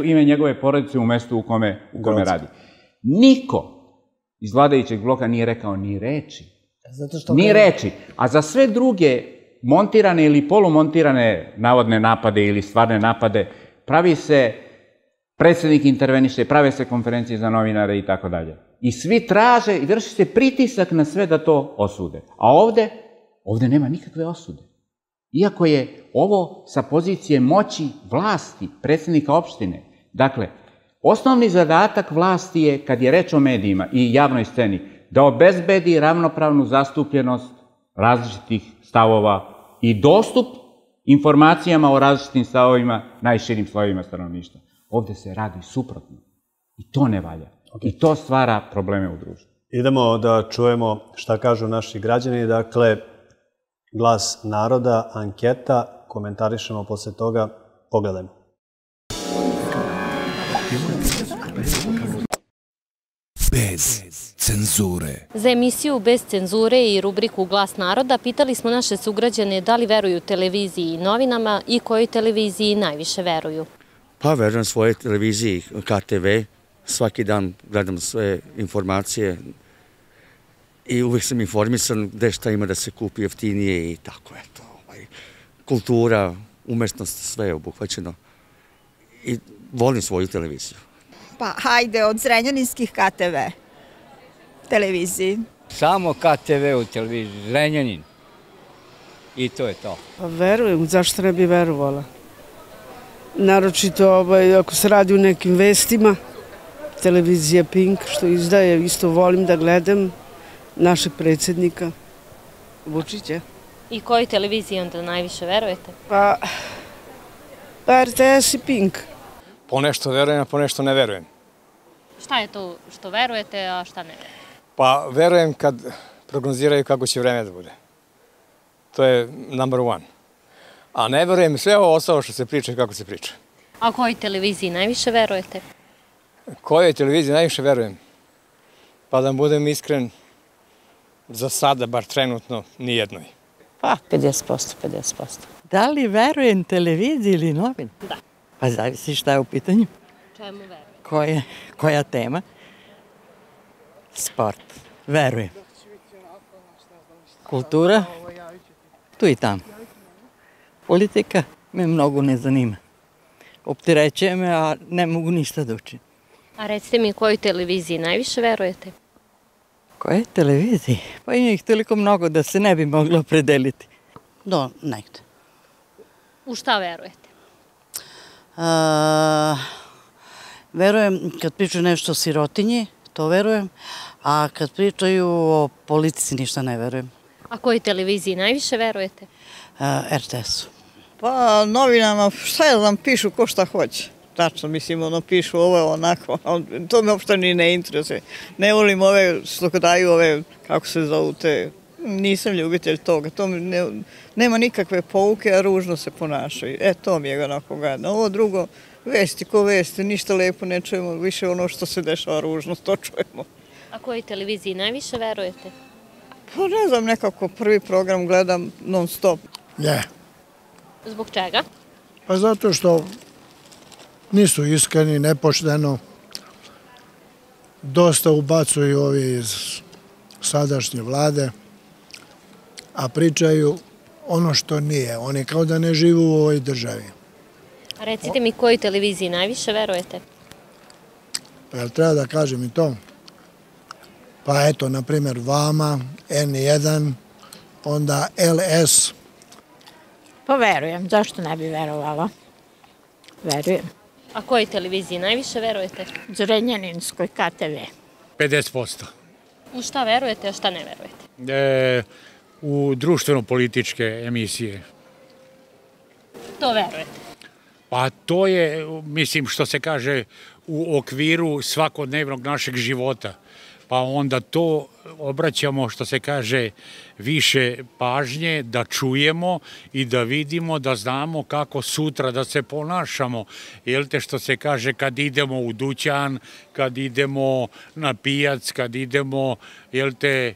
ime njegove porodice u mestu u kome radi. Niko iz vladajućeg bloka nije rekao ni reči. Ni reči. A za sve druge montirane ili polumontirane navodne napade ili stvarne napade pravi se predsjednik interveniše, prave se konferencije za novinare i tako dalje. I svi traže i vrši se pritisak na sve da to osude. A ovde nema nikakve osude. Iako je ovo sa pozicije moći vlasti, predsjednika opštine. Dakle, osnovni zadatak vlasti je, kad je reč o medijima i javnoj sceni, da obezbedi ravnopravnu zastupljenost različitih stavova i dostup informacijama o različitim stavovima najširim slojevima stanovništva. Ovde se radi suprotno. I to ne valja. I to stvara probleme u društvu.
Idemo da čujemo šta kažu naši građani. Dakle, Glas naroda, anketa, komentarišemo posle toga. Pogledajmo.
Bez cenzure.
Za emisiju Bez cenzure i rubriku Glas naroda pitali smo naše sugrađane da li veruju televiziji i novinama i kojoj televiziji najviše veruju.
Pa verujem svojoj televiziji KTV. Svaki dan gledam sve informacije i uvijek sam informisan gde šta ima da se kupi jeftinije i tako, eto. Kultura, umetnost, sve je obuhvaćeno. I volim svoju televiziju.
Pa hajde, od zrenjaninskih KTV. Televiziji.
Samo KTV u televiziji, Zrenjanin. I to je to.
Pa verujem, zašto ne bi verovala? Naročito ako se radi o nekim vestima, televizija Pink što izdaje, isto volim da gledam našeg predsjednika Vučića.
I kojoj televiziji onda najviše verujete?
Pa RTS i Pink.
Po nešto verujem, a po nešto ne verujem.
Šta je to što verujete, a šta ne verujete?
Pa verujem kad prognoziraju kako će vreme da bude. To je number one. A ne verujem sve ovo ostalo što se priča i kako se priča.
A kojoj televiziji najviše verujete?
Kojoj televiziji najviše verujem? Pa da budem iskren, za sada, bar trenutno, nijednoj.
Pa, 50%. Da li verujem televiziji ili novin?
Da.
Pa zavisi šta je u pitanju.
Čemu verujete?
Koja tema? Sport. Verujem. Kultura? Tu i tamo. Politika me mnogo ne zanima. Opterećuje me, a ne mogu ništa da učim.
A recite mi kojoj televiziji najviše verujete?
Koje televiziji? Pa ima ih toliko mnogo da se ne bi moglo opredeliti.
Do negde.
U šta verujete?
Verujem kad pričaju nešto o sirotinji, to verujem, a kad pričaju o politici ništa ne verujem.
A kojoj televiziji najviše verujete?
RTS-u.
Pa novinama, šta ja znam, pišu ko šta hoće. Tačno, mislim, pišu ovo, onako, to me uopšte ni ne interesuje. Ne volim ove što daju ove, kako se zovu te, nisam ljubitelj toga, to nema nikakve pouke, a ružno se ponašaju. To mi je onako gadno. Ovo drugo, vesti ko vesti, ništa lepo ne čujemo, više ono što se dešava ružno, to čujemo.
A kojoj televiziji najviše verujete?
Pa ne znam, nekako prvi program gledam non stop.
Ne.
Zbog čega?
Pa zato što nisu iskreni, nepošteno. Dosta ubacuju ovi iz sadašnje vlade, a pričaju ono što nije. Oni kao da ne žive u ovoj državi.
A recite mi kojoj televiziji najviše verujete?
Pa jel treba da kažem i to? Pa eto, na primjer, vama, N1, onda LS.
Pa verujem, zašto ne bi verovala? Verujem.
A kojoj televiziji najviše verujete?
Zrenjaninskoj KTV.
50%.
U šta verujete, a šta ne verujete?
U društveno-političke emisije.
To verujete?
Pa to je, mislim, što se kaže, u okviru svakodnevnog našeg života. Pa onda to obraćamo, što se kaže, više pažnje, da čujemo i da vidimo, da znamo kako sutra da se ponašamo. Jel te, što se kaže, kad idemo u dućan, kad idemo na pijac, kad idemo, jel te,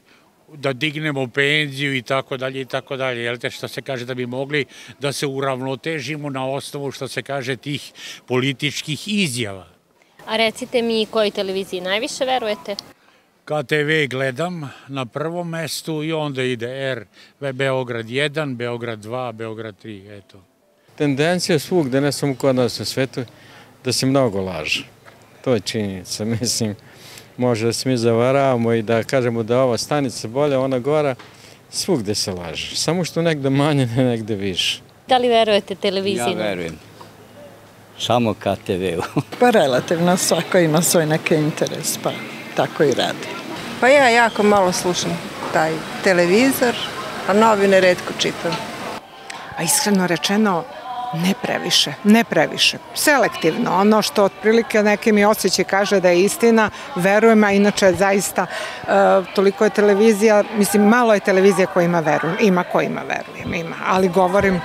da dignemo penziju i tako dalje i tako dalje. Jel te, što se kaže, da bi mogli da se uravnotežimo na osnovu, što se kaže, tih političkih izjava.
A recite mi kojoj televiziji najviše verujete?
KTV gledam na prvom mestu i onda ide Beograd 1, Beograd 2, Beograd 3, eto.
Tendencija svugde, ne samo kod nas na svetu, da se mnogo laže. To je činjenica, mislim. Može da se mi zavaravamo i da kažemo da ova stanica bolja, ona gora, svugde se laže. Samo što negde manje, ne negde više.
Da li verujete televiziji?
Ja verujem. Samo KTV-u.
Pa relativno, svako ima svoj neki interes, pa tako i radi.
Pa ja jako malo slušam taj televizor, a novine retko čitam.
A iskreno rečeno, ne previše. Selektivno, ono što otprilike neki mi osjećaj kaže da je istina, verujem, a inače zaista toliko je televizija, mislim malo je televizija kojima verujem, ima verujem, ali govorim,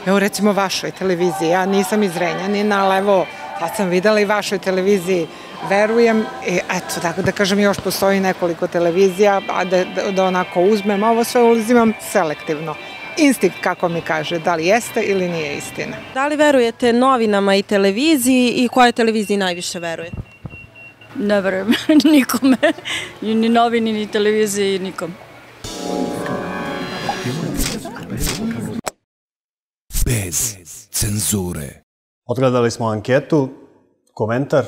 evo recimo vašoj televiziji, ja nisam iz Zrenjanina, ali evo, sad sam videla i vašoj televiziji, verujem, i eto, tako da kažem, još postoji nekoliko televizija, a da onako uzmem, ovo sve uzimam selektivno. Instinkt, kako mi kaže, da li jeste ili nije istina.
Da li verujete novinama i televiziji i kojoj televiziji najviše verujete?
Ne verujem nikome, ni novini, ni televiziji, nikom.
Bez cenzure.
Odgledali smo anketu, komentar.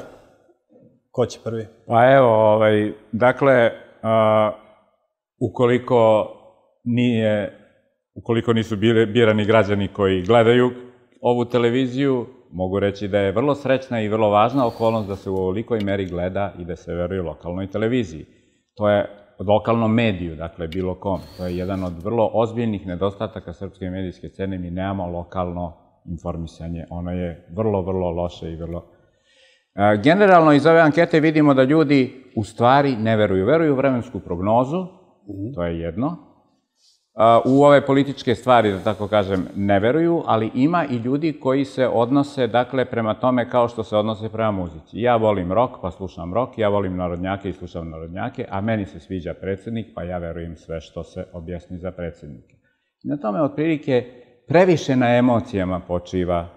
Ko će prvi?
Pa evo, dakle, ukoliko nisu birani građani koji gledaju ovu televiziju, mogu reći da je vrlo srećna i vrlo važna okolnost da se u ovolikoj meri gleda i da se veruje lokalnoj televiziji. To je lokalnom mediju, dakle, bilo kom. To je jedan od vrlo ozbiljnih nedostataka srpske medijske scene. Mi nemamo lokalno informisanje. Ono je vrlo, vrlo loše i vrlo... Generalno, iz ove ankete vidimo da ljudi u stvari ne veruju. Veruju u vremensku prognozu, to je jedno. U ove političke stvari, da tako kažem, ne veruju, ali ima i ljudi koji se odnose, dakle, prema tome kao što se odnose prema muzici. Ja volim rock, pa slušam rock, ja volim narodnjake i slušam narodnjake, a meni se sviđa predsjednik, pa ja verujem sve što se objasni za predsjednike. Na tome, otprilike, previše na emocijama počiva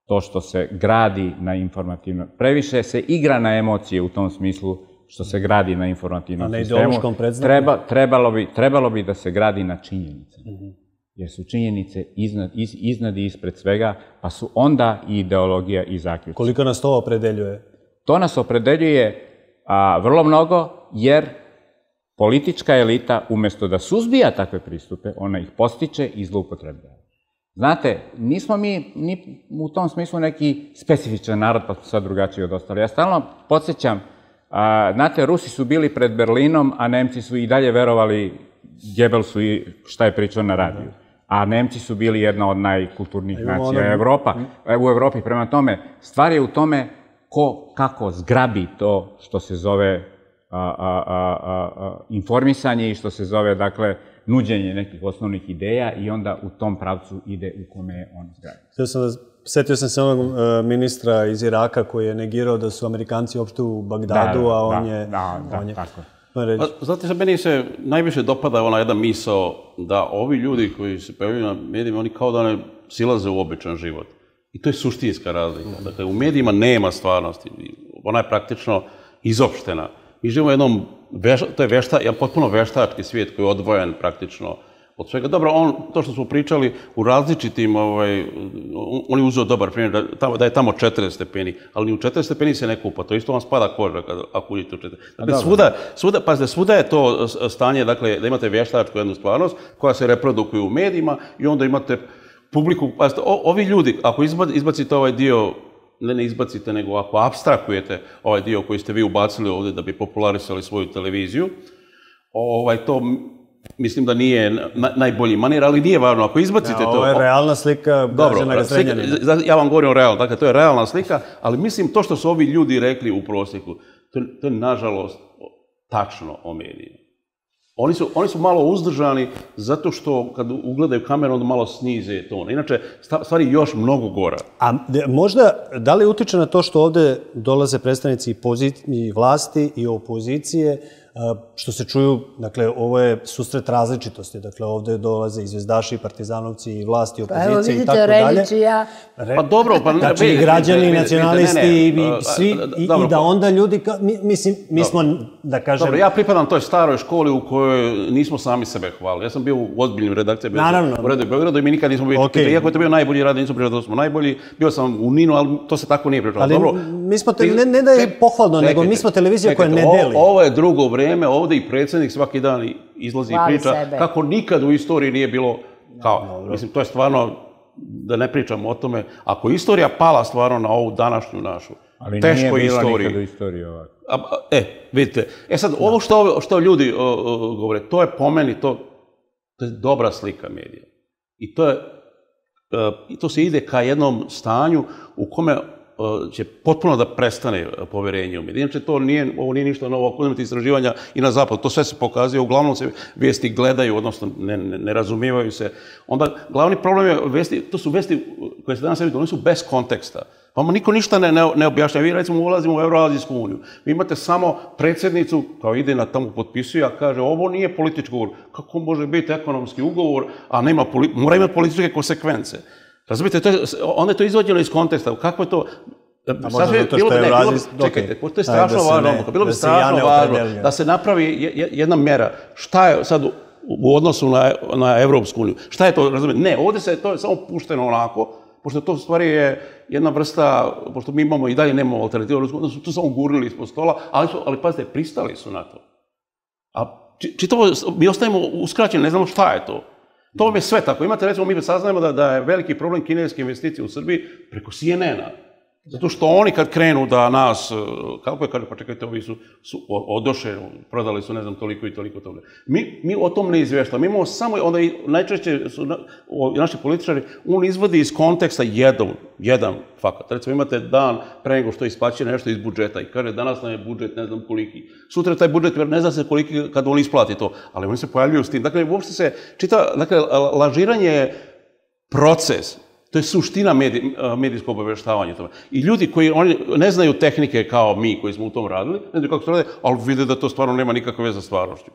to što se gradi na informativno. Previše se igra na emocije u tom smislu što se gradi na informativnom sistemu.
A na ideološkom predznaku?
Trebalo bi da se gradi na činjenice. Jer su činjenice iznad i ispred svega, pa su onda i ideologija i zaključci.
Koliko nas to opredeljuje?
To nas opredeljuje vrlo mnogo, jer politička elita, umjesto da suzbija takve pristupe, ona ih postiče i zloupotrebljava. Znate, nismo mi ni u tom smislu neki specifičan narod, pa smo sad drugačiji od ostali. Ja stalno podsjećam, znate, Rusi su bili pred Berlinom, a Nemci su i dalje verovali Gebelsu i šta je pričao na radiju. A Nemci su bili jedna od najkulturnijih nacija u Evropi. Prema tome, stvar je u tome kako zgrabi to što se zove informisanje i što se zove, dakle, nuđenje nekih osnovnih ideja i onda u tom pravcu ide u kome je on zgrabi.
Setio sam se onog ministra iz Iraka koji je negirao da su Amerikanci uopšte u Bagdadu, a on je...
tako.
Znate, meni se najviše dopada ona jedna misao da ovi ljudi koji se pojavljaju na medijima, oni kao da ne silaze u običan život. I to je suštinska razlika. Dakle, u medijima nema stvarnosti. Ona je praktično izopštena. Mi živimo u jednom, to je jedan potpuno veštački svijet koji je odvojen praktično od svega. Dobro, to što smo pričali u različitim, on je uzeo dobar primjer, da je tamo 40 stepeni, ali ni u 40 stepeni se ne kupa, to isto vam spada koža ako uđete u 40. Dakle, pazite, svuda je to stanje, dakle, da imate vještačku jednu stvarnost koja se reprodukuje u medijima i onda imate publiku, pazite, ovi ljudi, ako izbacite ovaj dio, ne izbacite, nego ako apstrakujete ovaj dio koji ste vi ubacili ovdje da bi popularisali svoju televiziju, to mislim da nije najbolji manir, ali nije važno. Ako izbacite to...
Ovo je realna slika građana Zrenjanina.
Ja vam govorim o realno, dakle, to je realna slika, ali mislim to što su ovi ljudi rekli u prosjeku, to je nažalost tačno o medijima. Oni su malo uzdržani zato što kad ugledaju kameru onda malo snize ton. Inače, stvari još mnogo gora.
A možda, da li utiče na to što ovde dolaze predstavnici i vlasti i opozicije, što se čuju, dakle, ovo je susret različitosti, dakle, ovde dolaze i zvezdaši, i partizanovci, i vlasti, i opozicije, i tako dalje.
Evo vidite, Relić i ja.
Pa dobro, pa...
Znači, i građani, i nacionalisti, i svi, i da onda ljudi, mislim, mi smo, da kažem...
Dobro, ja pripadam toj staroj školi u kojoj nismo sami sebe hvalili. Ja sam bio u ozbiljnim redakcijama u Redu i Beogradu i mi nikad nismo bili... Iako je to bio najbolji rad, nismo pričali da smo najbolji, bio sam u Ninu, ali to se tako nije pričalo.
Ali mi smo, ne da je pohvalno, nego mi smo televizija koja ne deli.
Ovo je drugo vreme, ovde i predsjednik svaki dan izlazi i priča kako nikad u istoriji nije bilo kao. Mislim, to je stvarno, da ne pričamo o tome, ako je istorija pala stvarno na ovu današnju našu teškoj istoriji. Ali nije bila nikad u istoriji ovako. Vidite, sad, ovo što ljudi govore, to je po meni, to je dobra slika medija. I to se ide ka jednom stanju u kome će potpuno da prestane poverenje u medije. Inače, ovo nije ništa novo, ako imate istraživanja i na zapadu, to sve se pokazuje, uglavnom se vijesti gledaju, odnosno ne razumijevaju se. Onda, glavni problem je vesti, to su vesti koje se danas vidite, oni su bez konteksta. Pa niko ništa ne objašnja. Vi, recimo, ulazimo u Evroazijsku uniju. Vi imate samo predsjednicu, kao ide na tamo potpisuje, a kaže, ovo nije politički ugovor. Kako može biti ekonomski ugovor, a mora imati političke konsekvence. Razumite, onda je to izvođeno iz konteksta. Kako je to... Čekajte, to je strašno važno. Bilo bi strašno važno da se napravi jedna mera. Šta je sad u odnosu na Evropsku uniju? Šta je to, razumite? Ne, ovdje se to je samo pušteno onako, pošto to u stvari je jedna vrsta, pošto mi imamo i dalje nemamo alternativu, onda su to samo gurnili ispod stola, ali pazite, pristali su na to. A čitavo, mi ostajemo uskraćeni, ne znamo šta je to. To vam je sve tako. Imate, recimo, mi saznajemo da je veliki problem kineske investicije u Srbiji preko CNN-a. Zato što oni kad krenu da nas, kako je, pa čekajte, ovi su odoše, prodali su ne znam toliko i toliko toga. Mi o tom ne izvještamo. Mi imamo samo, onda i najčešće su naši političari, on izvodi iz konteksta jedan fakat. Recimo imate dan pre nego što isplaćuje nešto iz budžeta i kaže danas nam je budžet ne znam koliki. Sutra je taj budžet ne zna se koliki kad on isplati to, ali oni se pojavljuju s tim. Dakle, uopšte se čita, dakle, lažiranje je proces. To je suština medijskog obavještavanja. I ljudi koji ne znaju tehnike kao mi koji smo u tom radili, ne znaju kako se rade, ali vide da to stvarno nema nikakve veze sa stvarnošću.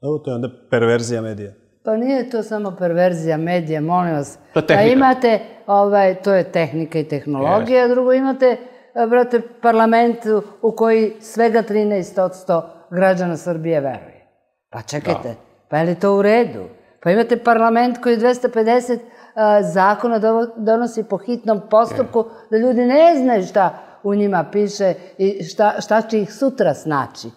Evo, to je onda perverzija medija.
Pa nije to samo perverzija medija, molim vas.
To je tehnika.
Pa imate, to je tehnika i tehnologija, a drugo imate, brate, parlament u koji svega 13% građana Srbije veruje. Pa čekajte, pa je li to u redu? Pa imate parlament koji 250 zakona donosi po hitnom postupku, da ljudi ne znaju šta u njima piše i šta će ih sutra snaći.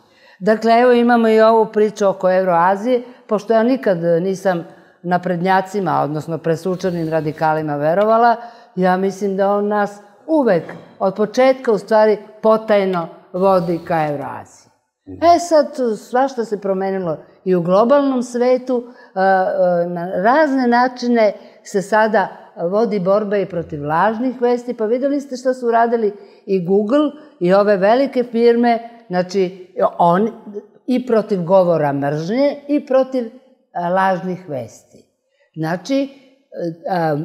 Dakle, evo imamo i ovu priču oko Evroazije, pošto ja nikad nisam naprednjacima, odnosno presučanim radikalima verovala, ja mislim da on nas uvek, od početka u stvari, potajno vodi ka Evroaziji. Sad, svašta se promenilo i u globalnom svetu, na razne načine se sada vodi borba i protiv lažnih vesti, pa videli ste što su uradili i Google i ove velike firme, znači i protiv govora mržnje i protiv lažnih vesti. Znači,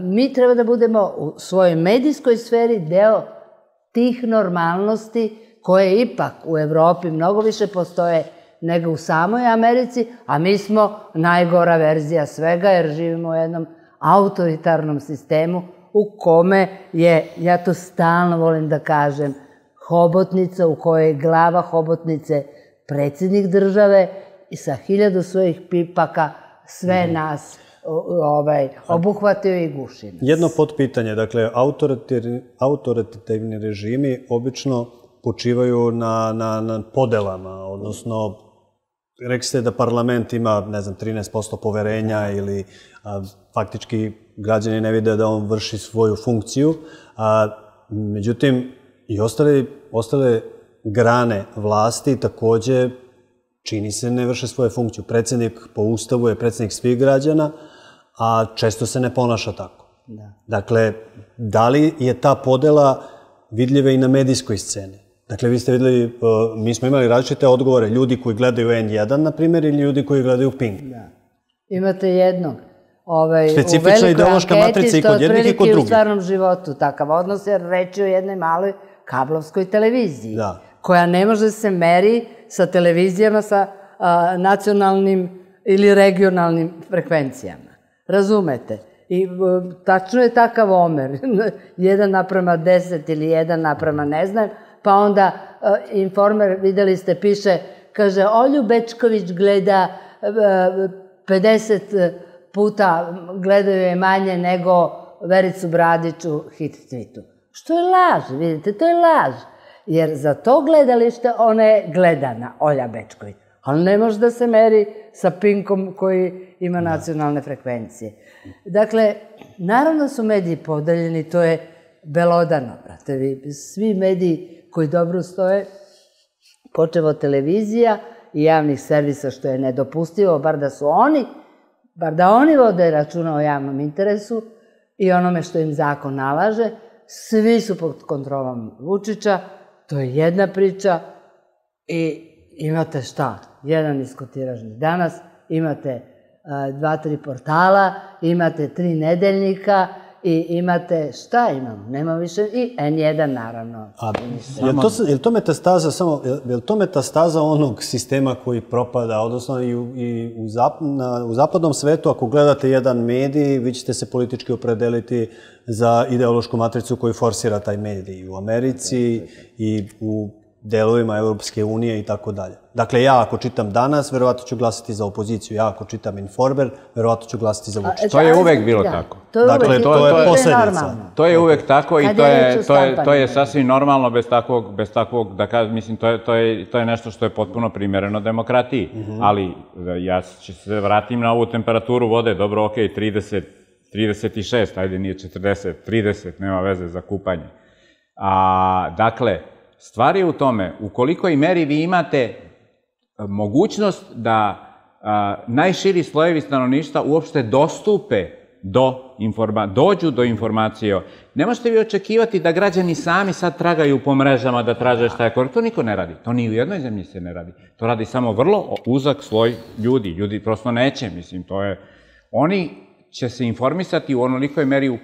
mi treba da budemo u svojoj medijskoj sferi deo tih normalnosti koje ipak u Evropi mnogo više postoje nego u samoj Americi, a mi smo najgora verzija svega jer živimo u jednom autoritarnom sistemu u kome je, ja to stalno volim da kažem, hobotnica u kojoj je glava hobotnice predsjednik države i sa 1000 svojih pipaka sve nas obuhvatio i gušio.
Jedno potpitanje, dakle, autoritativni režimi obično počivaju na podelama, odnosno rekli ste da parlament ima, ne znam, 13% poverenja ili faktički građani ne vide da on vrši svoju funkciju. Međutim, i ostale grane vlasti takođe čini se ne vrše svoju funkciju. Predsjednik po ustavu je predsjednik svih građana, a često se ne ponaša tako. Dakle, da li je ta podela vidljiva i na medijskoj sceni? Dakle, vi ste videli, mi smo imali različite odgovore, ljudi koji gledaju N1, na primjer, ili ljudi koji gledaju Pink.
Imate jednog.
Specifična ideološka matrica i kod jednih i kod drugih.
U stvarnom životu takav odnos, jer reći o jednoj maloj kablovskoj televiziji, koja ne može se meri sa televizijama sa nacionalnim ili regionalnim frekvencijama. Razumete? I tačno je takav omer, 1:10 ili 1:, ne znam, pa onda Informer, videli ste, piše, kaže, Olju Bečković gleda 50 puta, gledaju je manje nego Vericu Bradić u hit tweetu. Što je laž, vidite, to je laž. Jer za to gledalište ona je gledana, Olja Bečković. Ali ne može da se meri sa Pinkom koji ima nacionalne frekvencije. Dakle, naravno su mediji podeljeni, to je belodano, brate, vi. Svi mediji koji dobro stoje, počev od televizija i javnih servisa, što je nedopustivo, bar da oni vode računa o javnom interesu i onome što im zakon nalaže, svi su pod kontrolom Vučića, to je jedna priča i imate šta? Jedan niskotiražni danas, imate 2-3 portala, imate 3 nedeljnika i imate, šta imamo? Nema više i N1 naravno.
Je li to metastaza onog sistema koji propada, odnosno i u zapadnom svetu, ako gledate jedan medij, vi ćete se politički opredeliti za ideološku matricu koju forsira taj medij. U Americi i u delovima Europske unije i tako dalje. Dakle, ja ako čitam Danas, verovatno ću glasati za opoziciju. Ja ako čitam Informer, verovatno ću glasati za Vučića.
To je uvek bilo tako.
Dakle, to je posledica.
To je uvek tako i to je sasvim normalno bez takvog, da kažem, mislim, to je nešto što je potpuno primereno demokratiji. Ali ja ću se vratim na ovu temperaturu vode, dobro, ok, 36, ajde nije 40, 30, nema veze za kupanje. Dakle, stvar je u tome, u kolikoj meri vi imate mogućnost da najširi slojevi stanovništva uopšte dođu do informacije. Ne možete vi očekivati da građani sami sad tragaju po mrežama da traže šta je korisno. To niko ne radi. To ni u jednoj zemlji se ne radi. To radi samo vrlo uzak sloj ljudi. Ljudi prosto neće, mislim, to je... Oni će se informisati u onolikoj meri u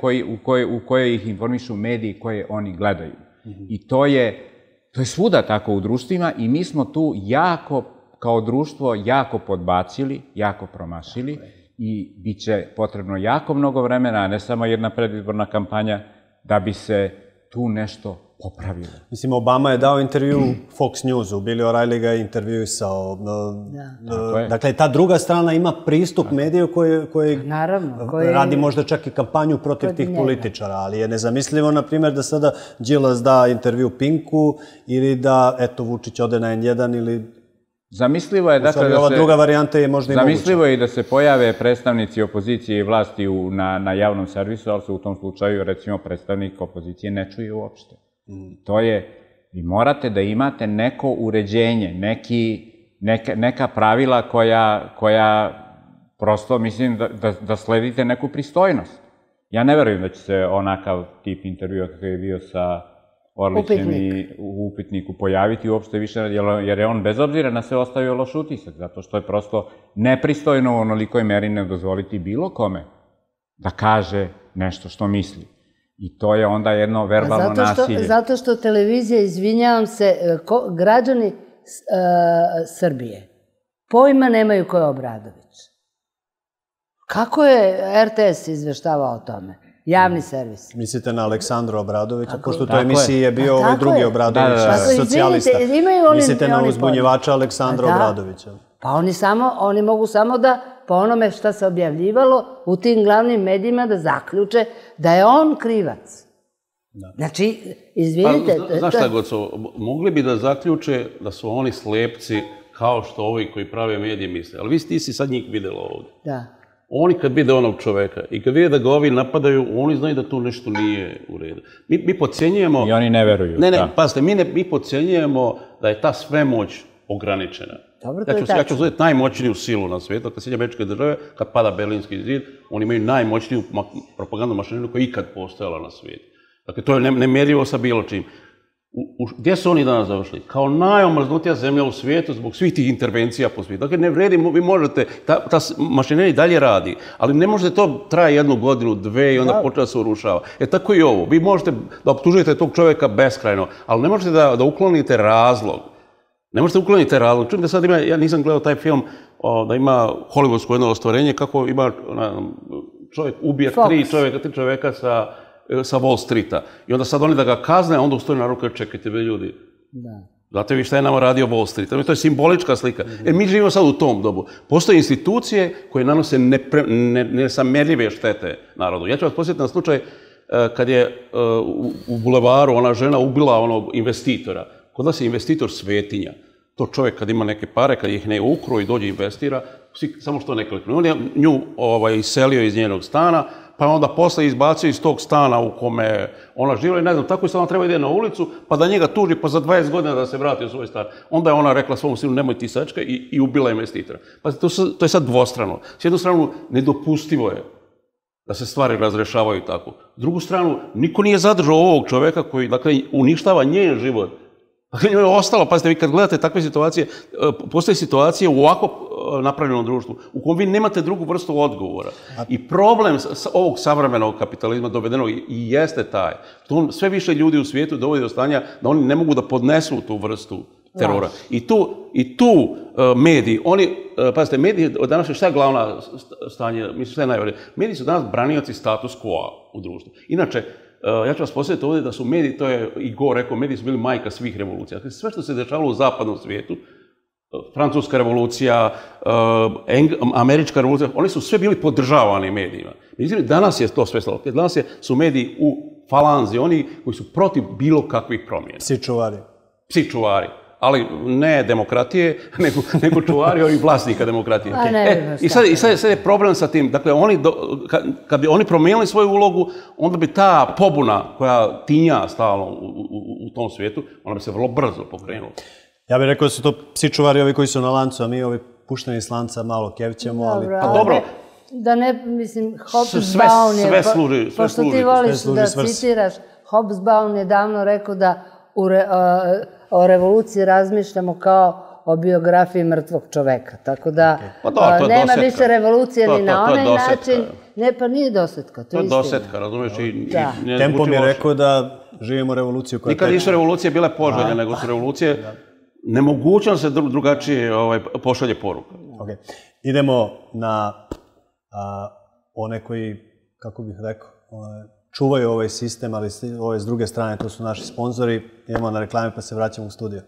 kojoj ih informišu mediji koje oni gledaju. I to je svuda tako u društvima i mi smo tu kao društvo jako podbacili, jako promašili i bit će potrebno jako mnogo vremena, a ne samo jedna predizborna kampanja, da bi se tu nešto popravilo.
Mislim, Obama je dao intervju Fox Newsu, Billy O'Reilly ga je intervjuisao. Dakle, ta druga strana ima pristup mediju koji radi možda čak i kampanju protiv tih političara, ali je nezamislivo, na primjer, da sada Đilas da intervju Pinku ili da, eto, Vučić ode na N1 ili...
Zamislivo je, dakle,
ova druga varijanta je možda i moguća.
Zamislivo je i da se pojave predstavnici opozicije i vlasti na javnom servisu, ali se u tom slučaju, recimo, predstavnik opozicije ne čuje uopšte. To je, vi morate da imate neko uređenje, neka pravila koja prosto, mislim, da sledite neku pristojnost. Ja ne verujem da će se onakav tip intervjua kakav je bio sa Orlićem i u Upitniku pojaviti uopšte više, jer je on bez obzira na sve ostavio loš utisak, zato što je prosto nepristojno u onolikoj meri ne dozvoliti bilo kome da kaže nešto što misli. I to je onda jedno verbalno nasilje.
Zato što televizija, izvinjavam se, građani Srbije pojma nemaju ko je Obradović. Kako je RTS izveštavao o tome? Javni servis.
Mislite na Aleksandra Obradovića, pošto u toj emisiji je bio ovaj drugi Obradović, socijalista. Mislite na uzbunjivača Aleksandra Obradovića.
Pa oni mogu samo da, po onome šta se objavljivalo u tim glavnim medijima, da zaključe da je on krivac. Znači, izvinite...
Znaš šta, Goco, mogli bi da zaključe da su oni slepci kao što ovi koji prave medije misle. Ali ti si sad njih videla ovdje.
Da.
Oni kad vide onog čoveka i kad vide da ga ovi napadaju, oni znaju da tu nešto nije u redu. Mi podcenjujemo...
I oni ne veruju.
Ne, pazite, mi podcenjujemo da je ta svemoć ograničena. Ja ću uzeti najmoćniju silu na svijetu, kad Sjedinjene Američke Države, kad pada Berlinski zid, oni imaju najmoćniju propagandnu mašineriju koja je ikad postojala na svijetu. Dakle, to je nemjerljivo sa bilo čim. Gdje su oni danas završili? Kao najomrznutija zemlja u svijetu zbog svih tih intervencija po svijetu. Dakle, ne vredi, vi možete, ta mašinerija dalje radi, ali ne možete to traje 1 godinu, 2 i onda počne da se urušava. Tako i ovo. Vi možete da optužujete tog čovjeka beskrajno, ali ne možete da uklonite razlog. Ne možete ukloniti razlog. Čujem da sad ima, ja nisam gledao taj film, da ima hollywoodsko jedno ostvarenje, kako ima čovjek ubija 3 čovjeka sa Wall Streeta. I onda sad oni da ga kazne, a onda ustoji na ruke, čekajte vi ljudi. Znate vi šta je nama radio Wall Street? To je simbolička slika. Mi živimo sad u tom dobu. Postoje institucije koje nanose nesamerljive štete narodu. Ja ću vas posjetiti na slučaj kad je u bulevaru ona žena ubila onog investitora. Kod nas je investitor svetinja. To čovjek kad ima neke pare, kad ih ne ukro i dođe investira, samo što ne klikne. On je nju iselio iz njenog stana, pa onda posle izbacio iz tog stana u kome ona živjela i ne znam, tako i sad ona treba ide na ulicu, pa da njega tuži, pa za 20 godina da se vrati u svoj stan. Onda je ona rekla svom sinu, nemoj ti sačka i ubila investitora. Pa to je sad dvostrano. S jednu stranu, nedopustivo je da se stvari razrešavaju tako. S drugu stranu, niko nije zadržao ovog čoveka koji, dakle, uništava njen život. Dakle, njoj je ostalo, pazite, vi kad gledate takve situacije, postoje situacije u ovako napravljenom društvu, u kojem vi nemate drugu vrstu odgovora. I problem ovog savremenog kapitalizma dovedenog i jeste taj. Sve više ljudi u svijetu dovodi do stanja da oni ne mogu da podnesu tu vrstu terora. I tu mediji, pazite, mediji danas je šta je glavna stanje, mislim šta je najvažnije, mediji su danas branioci status quo u društvu. Inače, Ja ću vas posjetiti ovdje da su mediji, to je i Gore rekao, mediji su bili majka svih revolucija. Dakle, sve što se dešavalo u zapadnom svijetu, Francuska revolucija, Američka revolucija, oni su sve bili podržavani medijima. Međutim, danas je to sve slabo. Danas su mediji u falanzi, oni koji su protiv bilo kakvih promjena.
Psi čuvari.
Psi čuvari. Ali ne demokratije, nego čuvari ovih vlasnika demokratije. I sad je problem sa tim. Dakle, kad bi oni promijenili svoju ulogu, onda bi ta pobuna koja tinja stalno u tom svijetu, ona bi se vrlo brzo pokrenula.
Ja bih rekao da su to psi čuvari ovi koji su na lancu, a mi ovi pušteni s lanca malo kevćemo, ali...
Pa dobro.
Da ne, mislim, Hobsbawm je...
Sve služi.
Pošto ti voliš da citiraš, Hobsbawm je davno rekao da o revoluciji razmišljamo kao o biografiji mrtvog čoveka. Tako da nema više revolucije ni na onaj način. Ne, pa nije dosetka, to je istina.
To je dosetka, razumiješ?
Tempo mi je rekao da živimo revoluciju koja...
Nikad nisu revolucije bile poželjne, nego su revolucije nemogućno se drugačije pošalje poruka.
Idemo na one koji, kako bih rekao, čuvaju ovaj sistem, ali ove s druge strane, to su naši sponzori. Idemo na reklame pa se vraćamo u studio.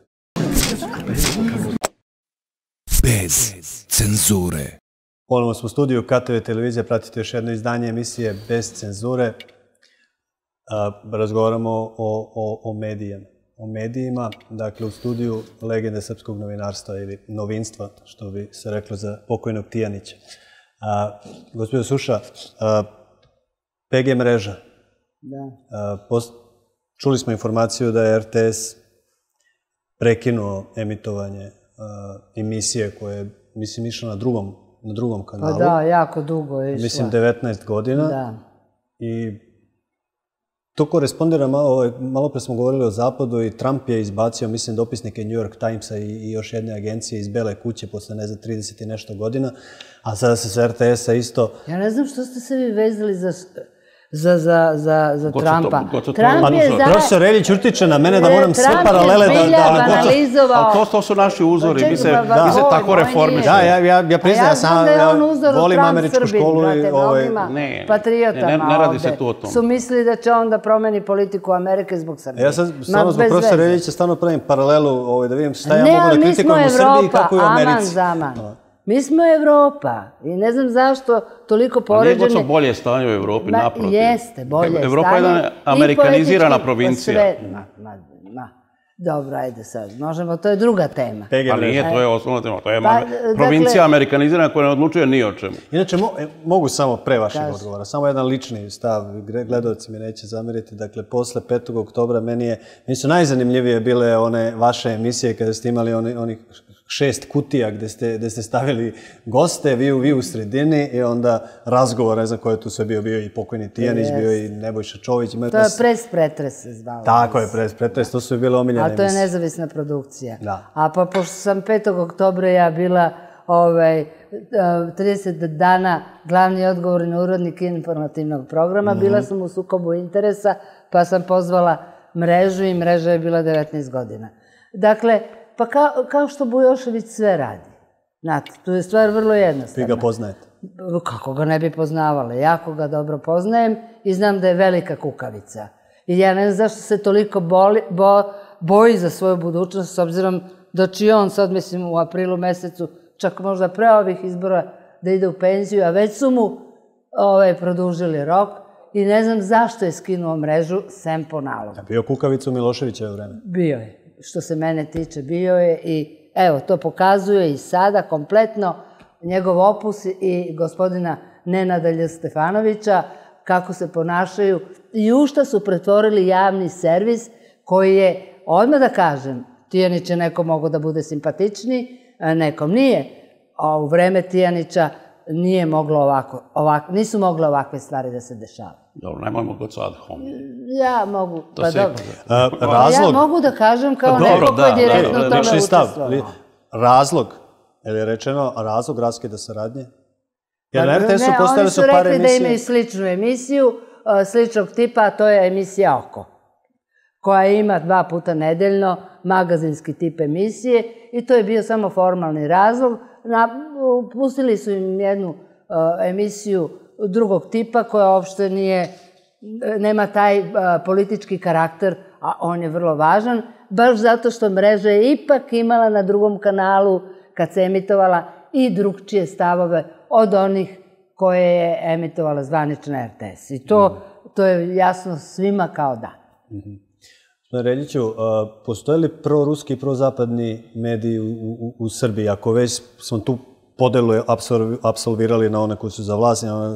Bez cenzure.
Ponovno smo u studiju KTV televizija, pratite još jedno izdanje emisije Bez cenzure. Razgovaramo o medijima, dakle u studiju legende srpskog novinarstva ili novinstva, što bi se reklo za pokojnog Tijanića. Gospodin Suša, PG mreža. Čuli smo informaciju da je RTS prekinuo emitovanje emisije koje je, mislim, išla na drugom kanalu.
Pa da, jako dugo je išla.
Mislim, 19 godina. I to korespondira malo pre smo govorili o Zapadu i Trump je izbacio, mislim, dopisnike New York Timesa i još jedne agencije iz Bele kuće posle, ne znam, 30 i nešto godina, a sada se sa RTS-a isto...
Ja ne znam što ste se vi vezali za Trumpa.
Profesor Reljić urtiče na mene da moram sve paralele
da...
To su naši uzori, mi se tako reformiš.
Da, ja priznam, ja volim američku školu i...
Patriotama
ne radi se tu o tom.
Su mislili da će on da promeni politiku Amerike zbog Srbije.
Ja sad samo zbog profesora Reljića stvarno pravim paralelu da vidim šta ja mogu da kritikujem u Srbiji i kako je u Americi.
Mi smo Evropa i ne znam zašto toliko poređene...
A nije bolje stanje u Evropi, naprotiv.
Jeste, bolje stanje.
Evropa je jedna amerikanizirana provincija.
Dobro, ajde sad, možemo, to je druga tema.
Pa nije, to je osnovna tema. To je provincija amerikanizirana koja ne odlučuje ni o čemu.
Inače, mogu samo pre vašeg odgovora, samo jedan lični stav, gledalci mi neće zameriti. Dakle, posle 5. oktobra meni su najzanimljivije bile one vaše emisije kada ste imali onih 6 kutija gde ste stavili goste, vi u sredini i onda razgovor, ne znam ko je tu sve bio i pokojni Tijanić, bio i Nebojša Čović.
To je Pres pretres se zvalo.
Tako je, Pres pretres, to su bile omiljene emisije.
A to je nezavisna produkcija. A pa pošto sam 5. oktobra ja bila 30 dana glavni odgovorni urednik informativnog programa, bila sam u sukobu interesa, pa sam pozvala mrežu i mreža je bila 19 godina. Dakle, pa kao što Bujošević sve radi. Znate, tu je stvar vrlo jednostavna.
Vi ga poznajete?
Kako ga ne bi poznavala? Jako ga dobro poznajem i znam da je velika kukavica. I ja ne znam zašto se toliko boji za svoju budućnost, s obzirom da će on sad, mislim, u aprilu mesecu, čak možda pre ovih izbora, da ide u penziju, a već su mu produžili rok i ne znam zašto je skinuo mrežu, sem po nalogu.
Bio kukavica u Miloševićevo vreme?
Bio je. Što se mene tiče, bio je i evo, to pokazuje i sada kompletno njegov opus i gospodina Nenada Lj. Stefanovića, kako se ponašaju i u šta su pretvorili javni servis koji je, odmah da kažem, Tijanić je nekom mogao da bude simpatičniji, nekom nije, a u vreme Tijanića nije moglo nisu mogle ovakve stvari da se dešavaju.
Dobro, nemojmo god sad homije.
Ja mogu, pa dobro. Ja mogu da kažem kao neko ko je direktno u tome učestvovao.
Razlog, je li rečeno razlog raskida saradnje? Jer na RTS-u
ne,
postavili su par emisije.
Oni su rekli da imaju sličnu emisiju, sličnog tipa, a to je emisija Oko, koja ima 2 puta nedeljno magazinski tip emisije i to je bio samo formalni razlog. Pustili su im jednu emisiju drugog tipa koja uopšte nije nema taj politički karakter, a on je vrlo važan, baš zato što mreža je ipak imala na drugom kanalu, kad se emitovala, i drugčije stavove od onih koje je emitovala zvanična RTS. I to je jasno svima kao da.
Reljiću, postoje li proruski i prozapadni mediji u Srbiji? Ako već smo tu podelu apsolvirali na one koji su za vlast i na one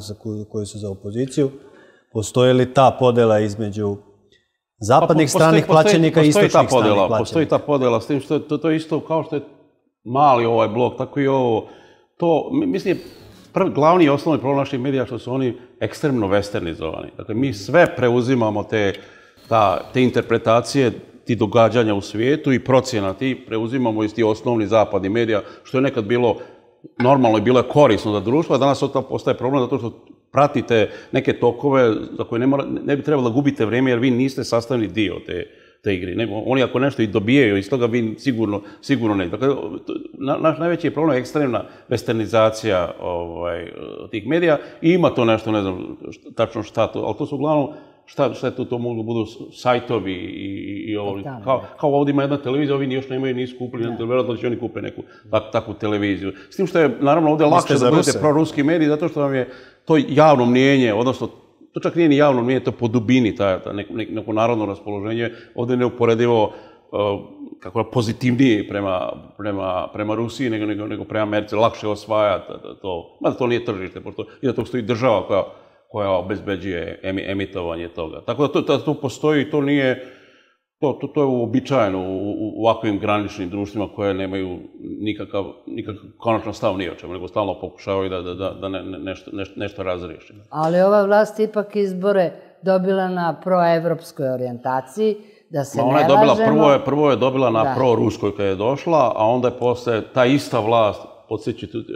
koji su za opoziciju, postoje li ta podela između zapadnih stranih plaćenika i istočnih stranih plaćenika?
Postoji ta podela, s tim što to je isto kao što je mali ovaj blok, tako i ovo. To, mislim, glavni i osnovni problem naših medija što su oni ekstremno westernizovani. Dakle, mi sve preuzimamo te interpretacije, ti događanja u svijetu i procjena ti preuzimamo iz tih osnovnih zapadnih medija, što je nekad bilo normalno i bilo je korisno za društvo, a danas to postaje problem zato što pratite neke tokove za koje ne bi trebalo da gubite vrijeme jer vi niste sastavni dio te igre. Oni ako nešto i dobijaju iz toga, vi sigurno ne. Dakle, naš najveći problem je ekstremna westernizacija tih medija i ima to nešto, ne znam tačno šta to, ali to su uglavnom šta je to mogu budu sajtovi i ovo. Kao ovdje ima jedna televizija, ovi još nemaju, nisu kupili, vjerojatno će oni kupe neku takvu televiziju. S tim što je naravno ovdje lakše da budete proruski mediji, zato što vam je to javno mnijenje, odnosno to čak nije ni javno mnijenje, to je po dubini neko narodno raspoloženje, ovdje je neuporedivo pozitivnije prema Rusiji nego prema Americi, lakše osvajati to. Mada to nije tržište, pošto iza tog stoji država koja obezbeđuje emitovanje toga. Tako da to postoji i to nije, to je uobičajeno u ovakvim graničnim društvima koje nemaju nikakav konačan stav ni o čemu, nego stalno pokušavaju da nešto razriješi.
Ali ova vlast ipak izbore dobila na proevropskoj orijentaciji, da se ne lažemo.
Prvo je dobila na proruskoj kad je došla, a onda je posle ta ista vlast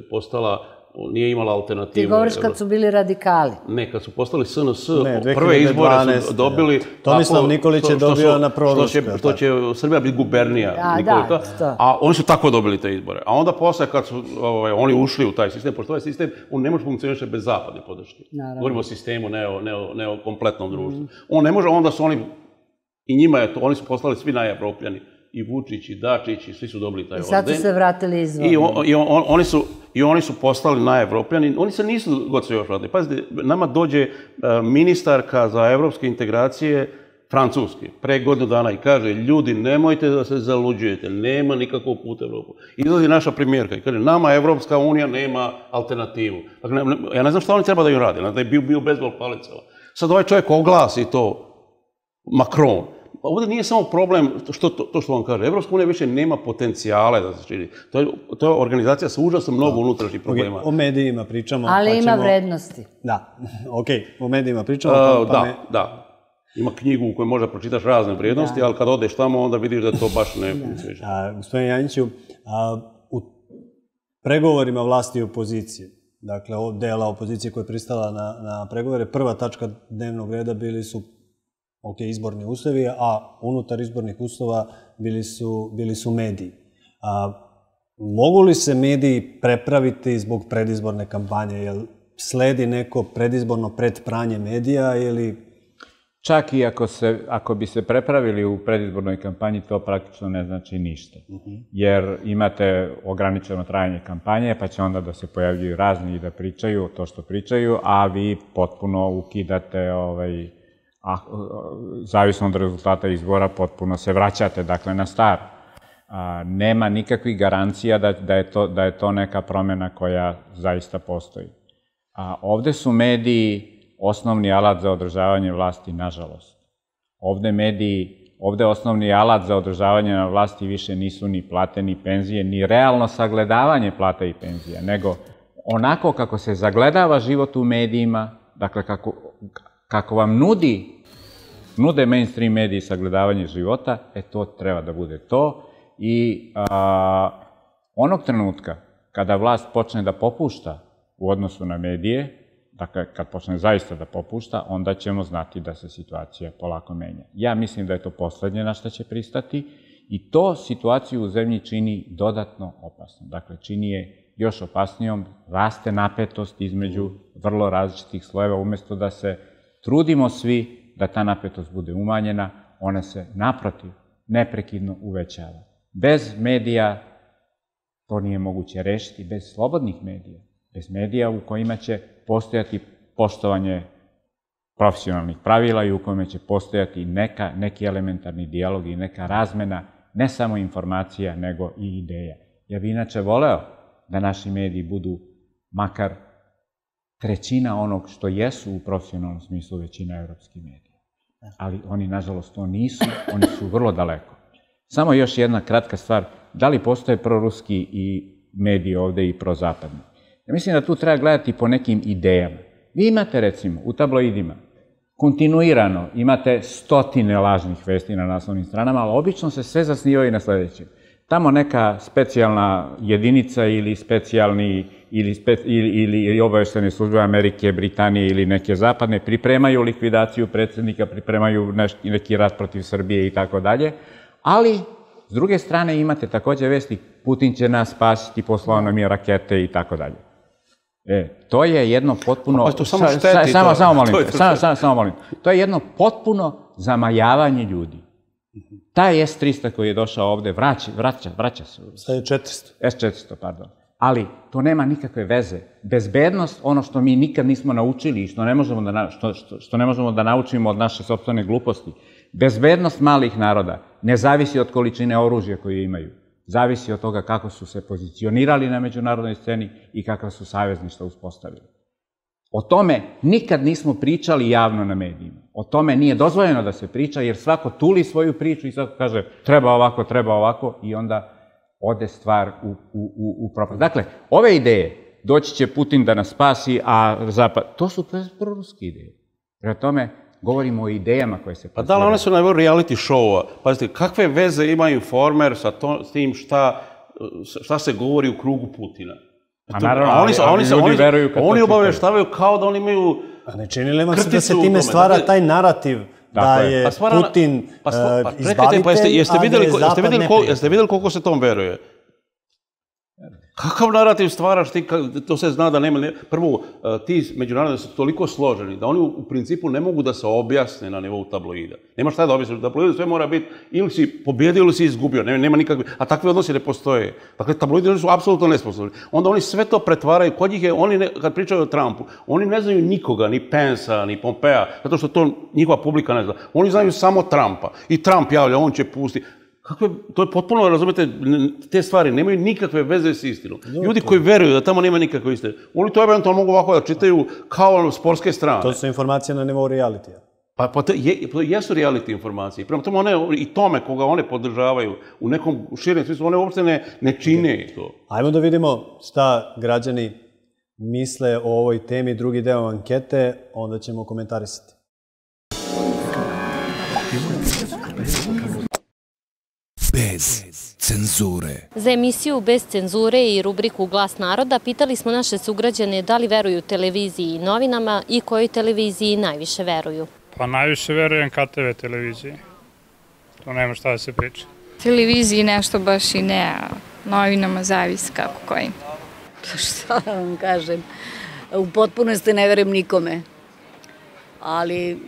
postala, nije imala alternativu.
Ti govoriš kad su bili radikali.
Ne, kad su postali SNS, prve izbore su dobili...
Tomislav Nikolić je dobio na proruskoj.
Što će Srbija biti gubernija Nikolića, a oni su tako dobili te izbore. A onda posle kad su oni ušli u taj sistem, pošto ovaj sistem, on ne može funkcionirati bez zapadne podrške. Govorimo o sistemu, ne o kompletnom društvu. On ne može, onda su oni, i njima je to, oni su postali svi najevropljani. I Vučić, i Dačić, i svi su dobili taj orden.
I sad su se vratili izvorni.
I oni su postali najevropljani. Oni se nisu god se još vratili. Pazite, nama dođe ministarka za evropske integracije Francuske pre godinu dana i kaže, ljudi, nemojte da se zaluđujete, nema nikakvog puta u Evropu. Izlazi naša premijerka i kaže, nama Evropska unija nema alternativu. Dakle, ja ne znam šta oni treba da ju rade, da je bio bezbol palicama. Sad ovaj čovjek oglasi to, Macron. Ovdje nije samo problem to što vam kaže. Evropska unija više nema potencijale da se širi. To je organizacija sa užasno mnogo unutrašnjih problema.
O medijima pričamo.
Ali ima vrednosti.
Da, o medijima pričamo.
Da. Ima knjigu u kojoj možda pročitaš razne vrijednosti, ali kad odeš tamo onda vidiš da to baš ne funkcioniše.
Gospodin Janjiću, u pregovorima vlasti i opozicije, dakle od dela opozicije koja je pristala na pregovore, prva tačka dnevnog reda bili su izborni uslovi, a unutar izbornih uslova bili su mediji. Mogu li se mediji prepraviti zbog predizborne kampanje? Jel sledi neko predizborno predpranje medija ili...
Čak i ako bi se prepravili u predizbornoj kampanji, to praktično ne znači ništa. Jer imate ograničeno trajanje kampanje, pa će onda da se pojavljuju razni i da pričaju to što pričaju, a vi potpuno ukidate zavisno od rezultata izbora, potpuno se vraćate, dakle, na staro. Nema nikakvih garancija da je to neka promjena koja zaista postoji. Ovde su mediji osnovni alat za održavanje vlasti, nažalost. Ovde osnovni alat za održavanje na vlasti više nisu ni plate, ni penzije, ni realno sagledavanje plata i penzija, nego onako kako se zagledava život u medijima, dakle, kako vam nude mainstream mediji sagledavanje života, to treba da bude to. I onog trenutka kada vlast počne da popušta u odnosu na medije, dakle, kad počne zaista da popušta, onda ćemo znati da se situacija polako menja. Ja mislim da je to poslednje na što će pristati i to situaciju u zemlji čini dodatno opasno. Dakle, čini je još opasnijom, raste napetost između vrlo različitih slojeva, umjesto da se Trudimo svi da ta napetost bude umanjena, ona se naprotiv neprekidno uvećava. Bez medija to nije moguće rešiti, bez slobodnih medija, bez medija u kojima će postojati poštovanje profesionalnih pravila i u kojima će postojati neki elementarni dijalog i neka razmena, ne samo informacija, nego i ideja. Ja bih inače voleo da naši mediji budu makar trećina onog što jesu u profesionalnom smislu većina evropskih medija. Ali oni, nažalost, to nisu, oni su vrlo daleko. Samo još jedna kratka stvar, da li postoje proruski i mediji ovde i prozapadni? Ja mislim da tu treba gledati po nekim idejama. Vi imate, recimo, u tabloidima, kontinuirano imate stotine lažnih vesti na naslovnim stranama, ali obično se sve zasnivaju na sledećem. Tamo neka specijalna jedinica ili specijalni ili obaveštene službe Amerike, Britanije ili neke zapadne pripremaju likvidaciju predsjednika, pripremaju neki rat protiv Srbije i tako dalje, ali s druge strane imate takođe vesti Putin će nas spasiti, poslao nam je rakete i tako dalje. To je jedno potpuno... Samo molim. To je jedno potpuno zamajavanje ljudi. Taj S-300 koji je došao ovde vraća se.
Sad je 400.
S-400, pardon. Ali to nema nikakve veze. Bezbednost, ono što mi nikad nismo naučili i što ne možemo da naučimo od naše sopstvene gluposti, bezbednost malih naroda ne zavisi od količine oružja koje imaju. Zavisi od toga kako su se pozicionirali na međunarodnoj sceni i kakva su savezništva uspostavili. O tome nikad nismo pričali javno na medijima. O tome nije dozvoljeno da se priča, jer svako tuli svoju priču i svako kaže treba ovako i onda ode stvar u propast. Dakle, ove ideje, doći će Putin da nas spasi, a Zapad, to su proruske ideje. Prema tome, govorimo o idejama koje se...
Pa da, ali one su na nivou reality show-a. Pazite, kakve veze ima Informer sa tim šta se govori u krugu Putina?
A naravno, ali ljudi veruju kad to čitaju.
Oni obaveštavaju kao da oni imaju...
A ne čini li vam se da se time stvara taj narativ da je Putin izbavitelj, a da je Zapad neprijatelj?
Jeste vidjeli koliko se tom veruje? Kakav narativ stvaraš ti, to se zna da nema... Prvo, ti međunarodni su toliko složeni da oni u principu ne mogu da se objasne na nivou tabloida. Nema šta da objasne, u tabloidu sve mora biti ili si pobjedio ili si izgubio, nema nikakve... A takve odnosi ne postoje. Dakle, tabloidi su apsolutno nesposobni. Onda oni sve to pretvaraju, kod njih je, kad pričaju o Trumpu, oni ne znaju nikoga, ni Pensa, ni Pompea, zato što to njihova publika ne zna. Oni znaju samo Trumpa. I Trump javlja, on će pustiti. To je potpuno, razumete, te stvari nemaju nikakve veze s istinom. Ljudi koji veruju da tamo nema nikakve istine, oni to eventualno mogu ovako da čitaju kao sportske strane.
To su informacije na nivou realitija.
Pa to jesu reality informacije. Prema tome, i tome koga one podržavaju u nekom širem smislu, one uopšte ne čine to.
Ajmo da vidimo šta građani misle o ovoj temi, drugi deo ankete, onda ćemo komentarisati.
Bez cenzure.
Za emisiju Bez cenzure i rubriku Glas naroda pitali smo naše sugrađane da li veruju televiziji i novinama i kojoj televiziji najviše veruju.
Pa najviše verujem KTV televiziji. To nema šta da se priča.
Televiziji nešto baš i ne, a novinama zavisi kako kojim.
Šta da vam kažem, u potpunosti ne verujem nikome, ali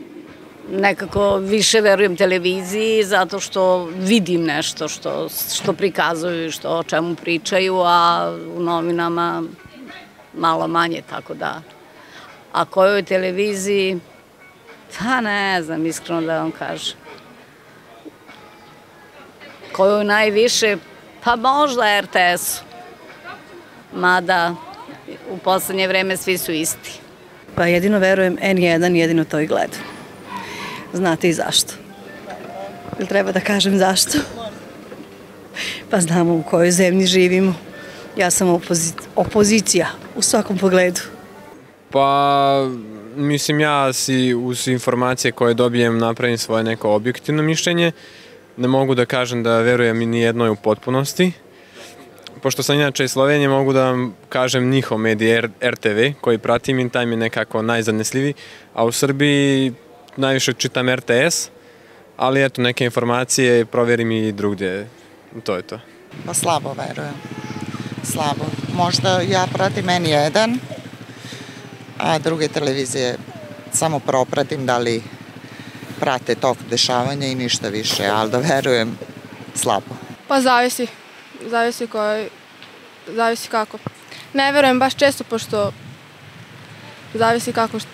nekako više verujem televiziji zato što vidim nešto što prikazuju i o čemu pričaju, a u novinama malo manje, tako da. A kojoj televiziji, pa ne znam, iskreno da vam kažem. Koju najviše, pa možda RTS-u, mada u poslednje vreme svi su isti.
Pa jedino verujem N1, jedino to i gledam. Znate i zašto. Ili treba da kažem zašto? Pa znamo u kojoj zemlji živimo. Ja sam opozicija u svakom pogledu.
Pa, mislim, ja si uz informacije koje dobijem napravim svoje neko objektivno mišljenje. Ne mogu da kažem da verujem ni jednoj u potpunosti. Pošto sam inače iz Slovenije, mogu da vam kažem njihov medij RTV koji pratim i taj mi je nekako najzanesljiviji, a u Srbiji najviše čitam RTS, ali eto neke informacije proverim i drugdje, to je to.
Pa slabo verujem, slabo. Možda ja pratim N1, a druge televizije samo propratim da li prate tok dešavanja i ništa više, ali da verujem slabo.
Pa zavisi. Zavisi kako. Ne verujem baš često, pošto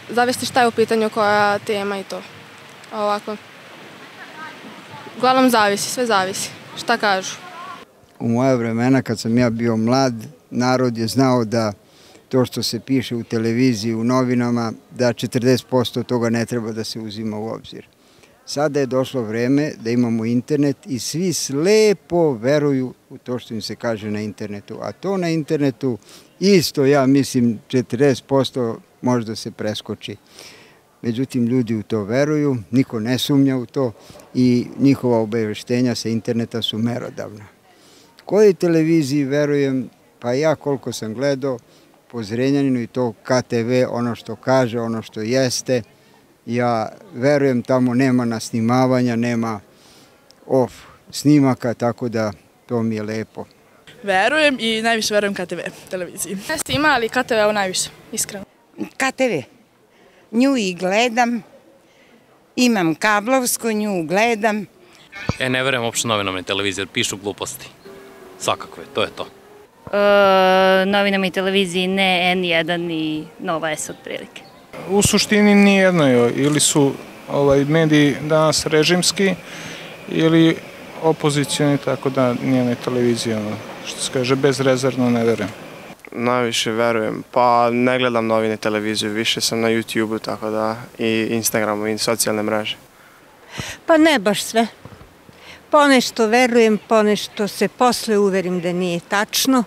zavisi šta je u pitanju, koja tema i to. Ovako. Uglavnom zavisi, sve zavisi. Šta kažu?
U moje vremena, kad sam ja bio mlad, narod je znao da to što se piše u televiziji, u novinama, da 40% toga ne treba da se uzima u obzir. Sada je došlo vreme da imamo internet i svi slepo veruju u to što im se kaže na internetu. A to na internetu isto, ja mislim, 40% možda se preskoči. Međutim, ljudi u to veruju, niko ne sumnja u to i njihova obaveštenja sa interneta su merodavna. Kojoj televiziji verujem? Pa ja koliko sam gledao, po Zrenjaninu i to KTV, ono što kaže, ono što jeste, ja verujem tamo nema nasnimavanja, nema off snimaka, tako da to mi je lepo.
Verujem i najviše verujem KTV televiziji. Jeste ima, ali KTV ovo najviše, iskreno.
KTV. Nju i gledam. Imam kablovsku, nju gledam.
Ne verujem uopšte novinama i televiziji, jer pišu gluposti. Svakakve, to je to.
Novinama i televiziji ne, N1 ni Nova S otprilike.
U suštini nijedno, ili su mediji danas režimski ili opozicioni, tako da nijednoj televiziji, što se kaže, bezrezervno ne verujem.
Najviše verujem, pa ne gledam novine, televiziju, više sam na YouTube-u, tako da i Instagramu i socijalne mreže.
Pa ne baš sve. Ponešto verujem, ponešto se posle uverim da nije tačno,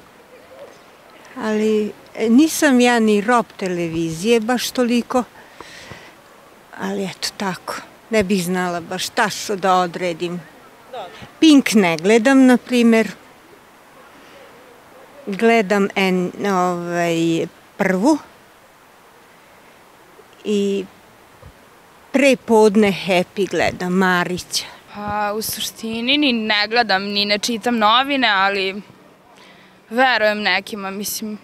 ali nisam ja ni rob televizije baš toliko, ali eto tako, ne bih znala baš tačno da odredim. Pink ne gledam, na primer, gledam Prvu i prepodne Happy gledam, Marića.
U suštini ni ne gledam, ni ne čitam novine, ali verujem nekima, mislim.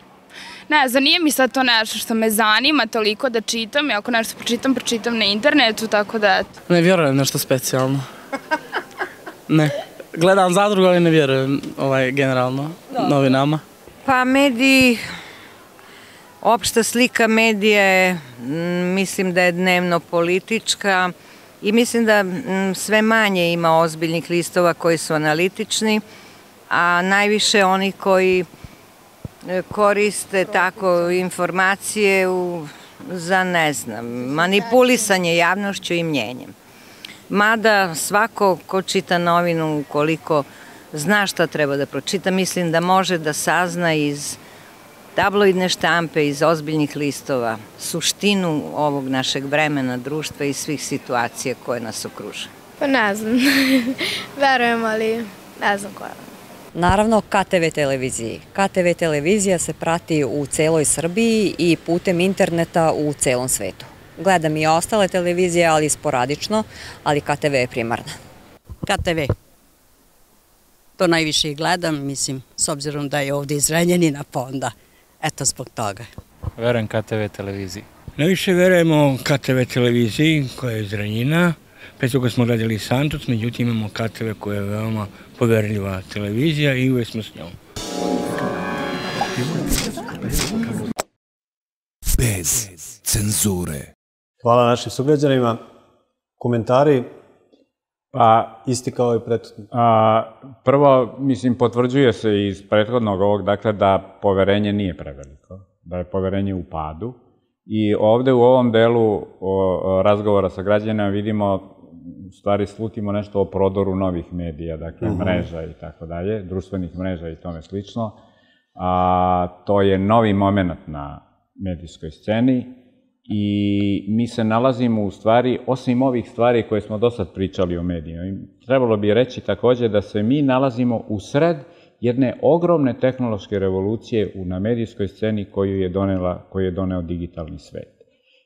Ne znam, nije mi sad to nešto što me zanima toliko da čitam, i ako nešto pročitam na internetu, tako da eto.
Ne vjerujem nešto specijalno. Ne. Gledam Zadrugu, ali ne vjerujem generalno novinama.
Pa mediji, opšta slika medija je, mislim da je dnevno politička i mislim da sve manje ima ozbiljnih listova koji su analitični, a najviše oni koji koriste tako informacije za, ne znam, manipulisanje javnošću i mnjenjem. Mada svako ko čita novinu, ukoliko zna šta treba da pročita, mislim da može da sazna iz tabloidne štampe, iz ozbiljnih listova, suštinu ovog našeg vremena, društva i svih situacija koje nas okruže.
Pa ne znam, verujem, ali ne znam koja.
Naravno, KTV televiziji. KTV televizija se prati u celoj Srbiji i putem interneta u celom svetu. Gledam i ostale televizije, ali sporadično, ali KTV je primarna.
KTV. To najviše i gledam, mislim, s obzirom da je ovdje iz Zrenjanina, pa onda, eto zbog toga.
Verujem KTV televiziji.
Najviše verujemo KTV televiziji koja je iz Zrenjanina. Pre toga smo gledali Santos, međutim imamo KTV koja je veoma poverljiva televizija i uvijek smo s njom.
Bez cenzure.
Hvala našim sugrađanima. Komentari? Pa, isti kao i prethodno.
Prvo, mislim, potvrđuje se iz prethodnog ovog, dakle, da poverenje nije preveliko, da je poverenje u padu. I ovde u ovom delu razgovora sa građanima vidimo, u stvari slutimo nešto o prodoru novih medija, dakle, mreža i tako dalje, društvenih mreža i tome slično. To je novi moment na medijskoj sceni i mi se nalazimo u stvari, osim ovih stvari koje smo do sad pričali o medijima, trebalo bi reći takođe da se mi nalazimo u sred jedne ogromne tehnološke revolucije na medijskoj sceni koju je doneo digitalni svet.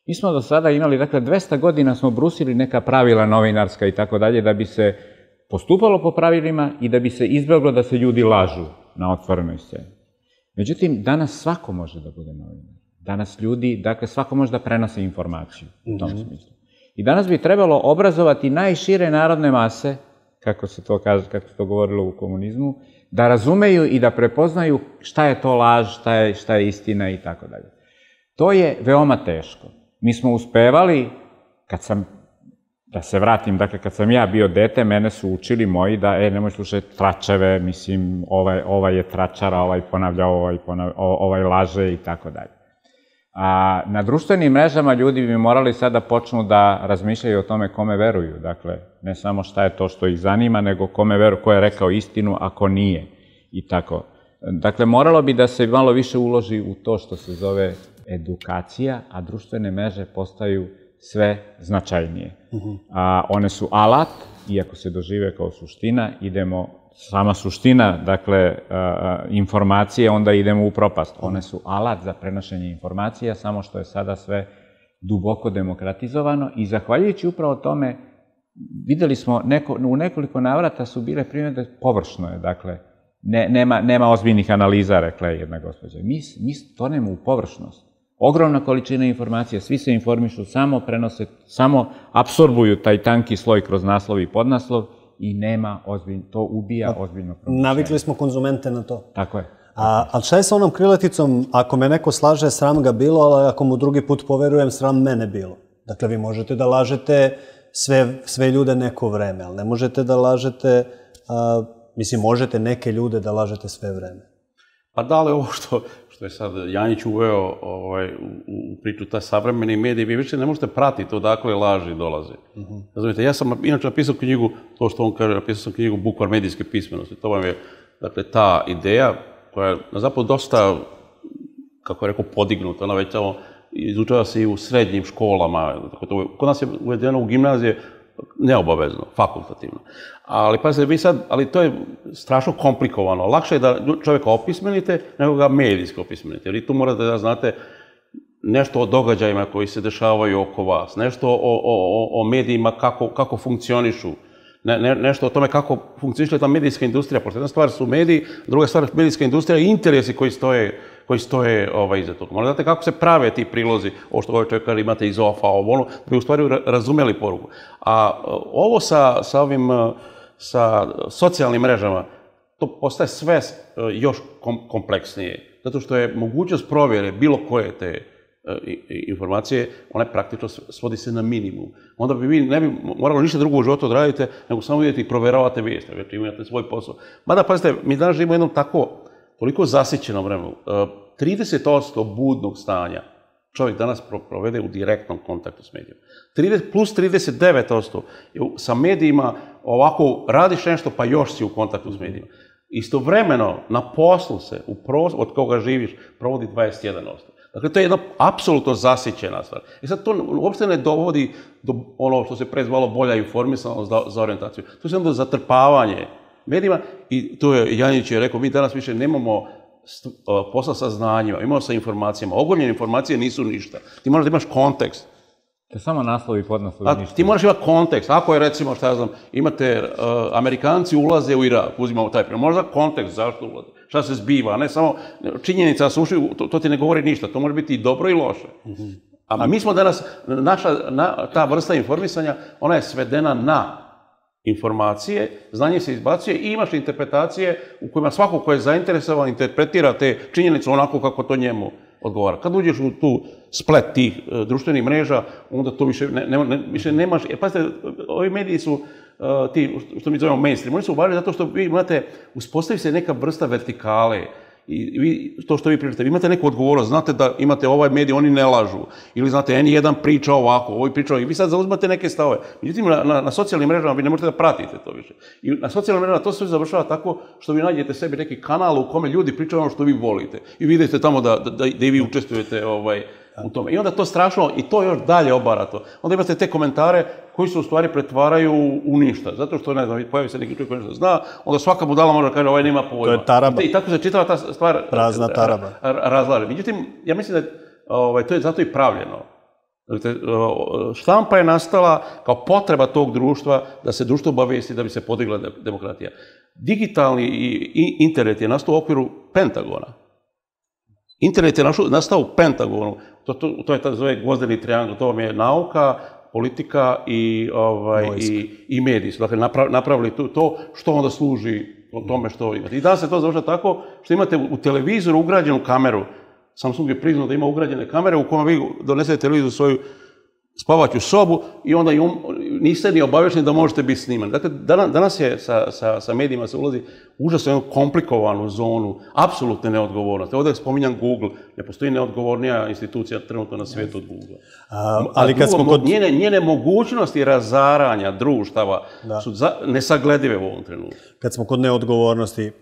Mi smo do sada imali, dakle, 200 godina smo brusili neka pravila novinarska i tako dalje da bi se postupalo po pravilima i da bi se izbjeglo da se ljudi lažu na otvorenoj sceni. Međutim, danas svako može da bude novinar. Danas ljudi, dakle, svako može da prenose informaciju u tom smislu. I danas bi trebalo obrazovati najšire narodne mase, kako se to kaže, kako se to govorilo u komunizmu, da razumeju i da prepoznaju šta je to laž, šta je istina i tako dalje. To je veoma teško. Mi smo uspevali, da se vratim, dakle, kad sam ja bio dete, mene su učili moji da, nemoj slušati tračeve, mislim, ovaj je tračara, ovaj ponavlja, ovaj laže i tako dalje. A na društvenim mrežama ljudi bi morali sad da počnu da razmišljaju o tome kome veruju. Dakle, ne samo šta je to što ih zanima, nego kome veruju, ko je rekao istinu, a ko nije. I tako. Dakle, moralo bi da se malo više uloži u to što se zove edukacija, a društvene mreže postaju sve značajnije. One su alat, iako se dožive kao suština, sama suština, dakle, informacije, onda idemo u propast. One su alat za prenošenje informacija, samo što je sada sve duboko demokratizovano i zahvaljujući upravo tome, videli smo, u nekoliko navrata su bile primjedbe površno je, dakle, nema ozbiljnih analiza, rekla je jedna gospođa. Mi tonemo u površnost. Ogromna količina informacija, svi se informišu, samo prenose, samo apsorbuju taj tanki sloj kroz naslov i podnaslov i nema ozbiljno, to ubija ozbiljno promišljanje.
Navikli smo konzumente na to.
Tako je.
Ali šta je sa onom krilaticom, ako me neko slaže, sram ga bilo, ali ako mu drugi put poverujem, sram mene bilo. Dakle, vi možete da lažete sve ljude neko vreme, ali ne možete da lažete, mislim, možete neke ljude da lažete sve vreme.
Pa da li ovo što je sad Janjić uveo u priču, taj savremeni medij, vi više ne možete pratiti odakle laži dolaze. Razumijete, ja sam inače napisao knjigu, to što on kaže, napisao sam knjigu Bukvar medijske pismenosti. To vam je, dakle, ta ideja koja je na zapadu dosta, kako je rekao, podignuta. Ona već tamo izučava se i u srednjim školama. Kod nas je uvedeno u gimnazije neobavezno, fakultativno. Ali pazite, vi sad, ali to je strašno komplikovano. Lakše je da čovjeka opismenite nego ga medijski opismenite. Jer i tu morate da znate nešto o događajima koji se dešavaju oko vas, nešto o medijima kako funkcionišu, nešto o tome kako funkcioniše ta medijska industrija. Pošto jedna stvar su mediji, druga stvar medijska industrija i interesi koji stoje iza toga. Morate znate kako se prave ti prilozi, ovo što ovaj čovjek kaže imate iz OFA, da bi u stvari razumeli poruku. A ovo sa socijalnim mrežama, to postaje sve još kompleksnije. Zato što je mogućnost provjere bilo koje te informacije, ona je praktično svodi se na minimum. Onda bi vi ne bi morali ništa drugo u životu odradite, nego samo vidjeti i provjeravate vijesti, već imate svoj posao. Mada, pazite, mi danas živimo u jednom toliko zasićenom vremenu. 30% budnog stanja čovjek danas provede u direktnom kontaktu s medijom. Plus 39% sa medijima ovako radiš nešto pa još si u kontaktu s medijima. Istovremeno na poslu se, od koga živiš, provodi 21%. Dakle, to je jedna apsolutno zasićena stvar. I sad to uopšte ne dovodi do ono što se pre zvalo bolja informisanost za orijentaciju. To je onda zatrpavanje medijima i to je Janjić je rekao, mi danas više nemamo posla sa znanjima, imamo sa informacijama. Ogoljene informacije nisu ništa. Ti moraš da imaš kontekst.
To je samo naslovi i podnaslovi ništa.
Ti moraš imati kontekst. Ako je, recimo, šta ja znam, imate Amerikanci ulaze u Irak, uzimamo taj primjer. Možda kontekst zašto ulaze, šta se zbiva, a ne samo činjenica da su ušli, to ti ne govori ništa. To može biti i dobro i loše. A mi smo danas, ta vrsta informisanja, ona je svedena na informacije, znanje se izbacuje i imaš interpretacije u kojima svako ko je zainteresovan interpretira te činjenice onako kako to njemu odgovara. Kad uđeš u tu splet tih društvenih mreža, onda to više nemaš. Jer pazite, ovi mediji su ti, što mi zovemo mainstream, oni su važni zato što vi imate, uspostavi se neka vrsta vertikale. I to što vi pričate, vi imate neku odgovornost, znate da imate ovaj medij, oni ne lažu. Ili znate, N1 priča ovako, ovaj priča ovako. I vi sad zauzmate neke stavove. Međutim, na socijalnim mrežama vi ne možete da pratite to više. I na socijalnim mrežama to sve završava tako što vi nađete sebi neki kanal u kome ljudi pričaju ono što vi volite. I vidite tamo da i vi učestvujete u tome. I onda to strašno, i to još dalje obara to. Onda imate te komentare koji se u stvari pretvaraju u ništa. Zato što, ne znam, pojavi se neki čovjek koji nešto zna, onda svaka budala može da kaže ovaj nema pojma.
To je taraba.
I tako se čitava ta stvar
prazna taraba.
Razlaže. Međutim, ja mislim da to je zato i pravljeno. Štampa je nastala kao potreba tog društva da se društvo obavijesti da bi se podigla demokratija. Digitalni internet je nastao u okviru Pentagona. Internet je nastao u Pentagonu, to je tako zove gvozdeni triangl, to vam je nauka, politika i mediji su. Dakle, napravili to što onda služi o tome što imate. I danas se to završa tako što imate u televizoru ugrađenu kameru. Samsung je priznao da ima ugrađene kamere u kojima vi donesete televizor u svoju spavaću sobu i onda niste ni obavješteni da možete biti snimani. Dakle, danas je sa medijima se ulazi užasno jednu komplikovanu zonu apsolutne neodgovornosti. Ovdje spominjam Google, ne postoji neodgovornija institucija trenutno na svijetu od Google.
Ali kad smo kod...
Njene mogućnosti razaranja društava su nesagledive u ovom trenutku.
Kad smo kod neodgovornosti,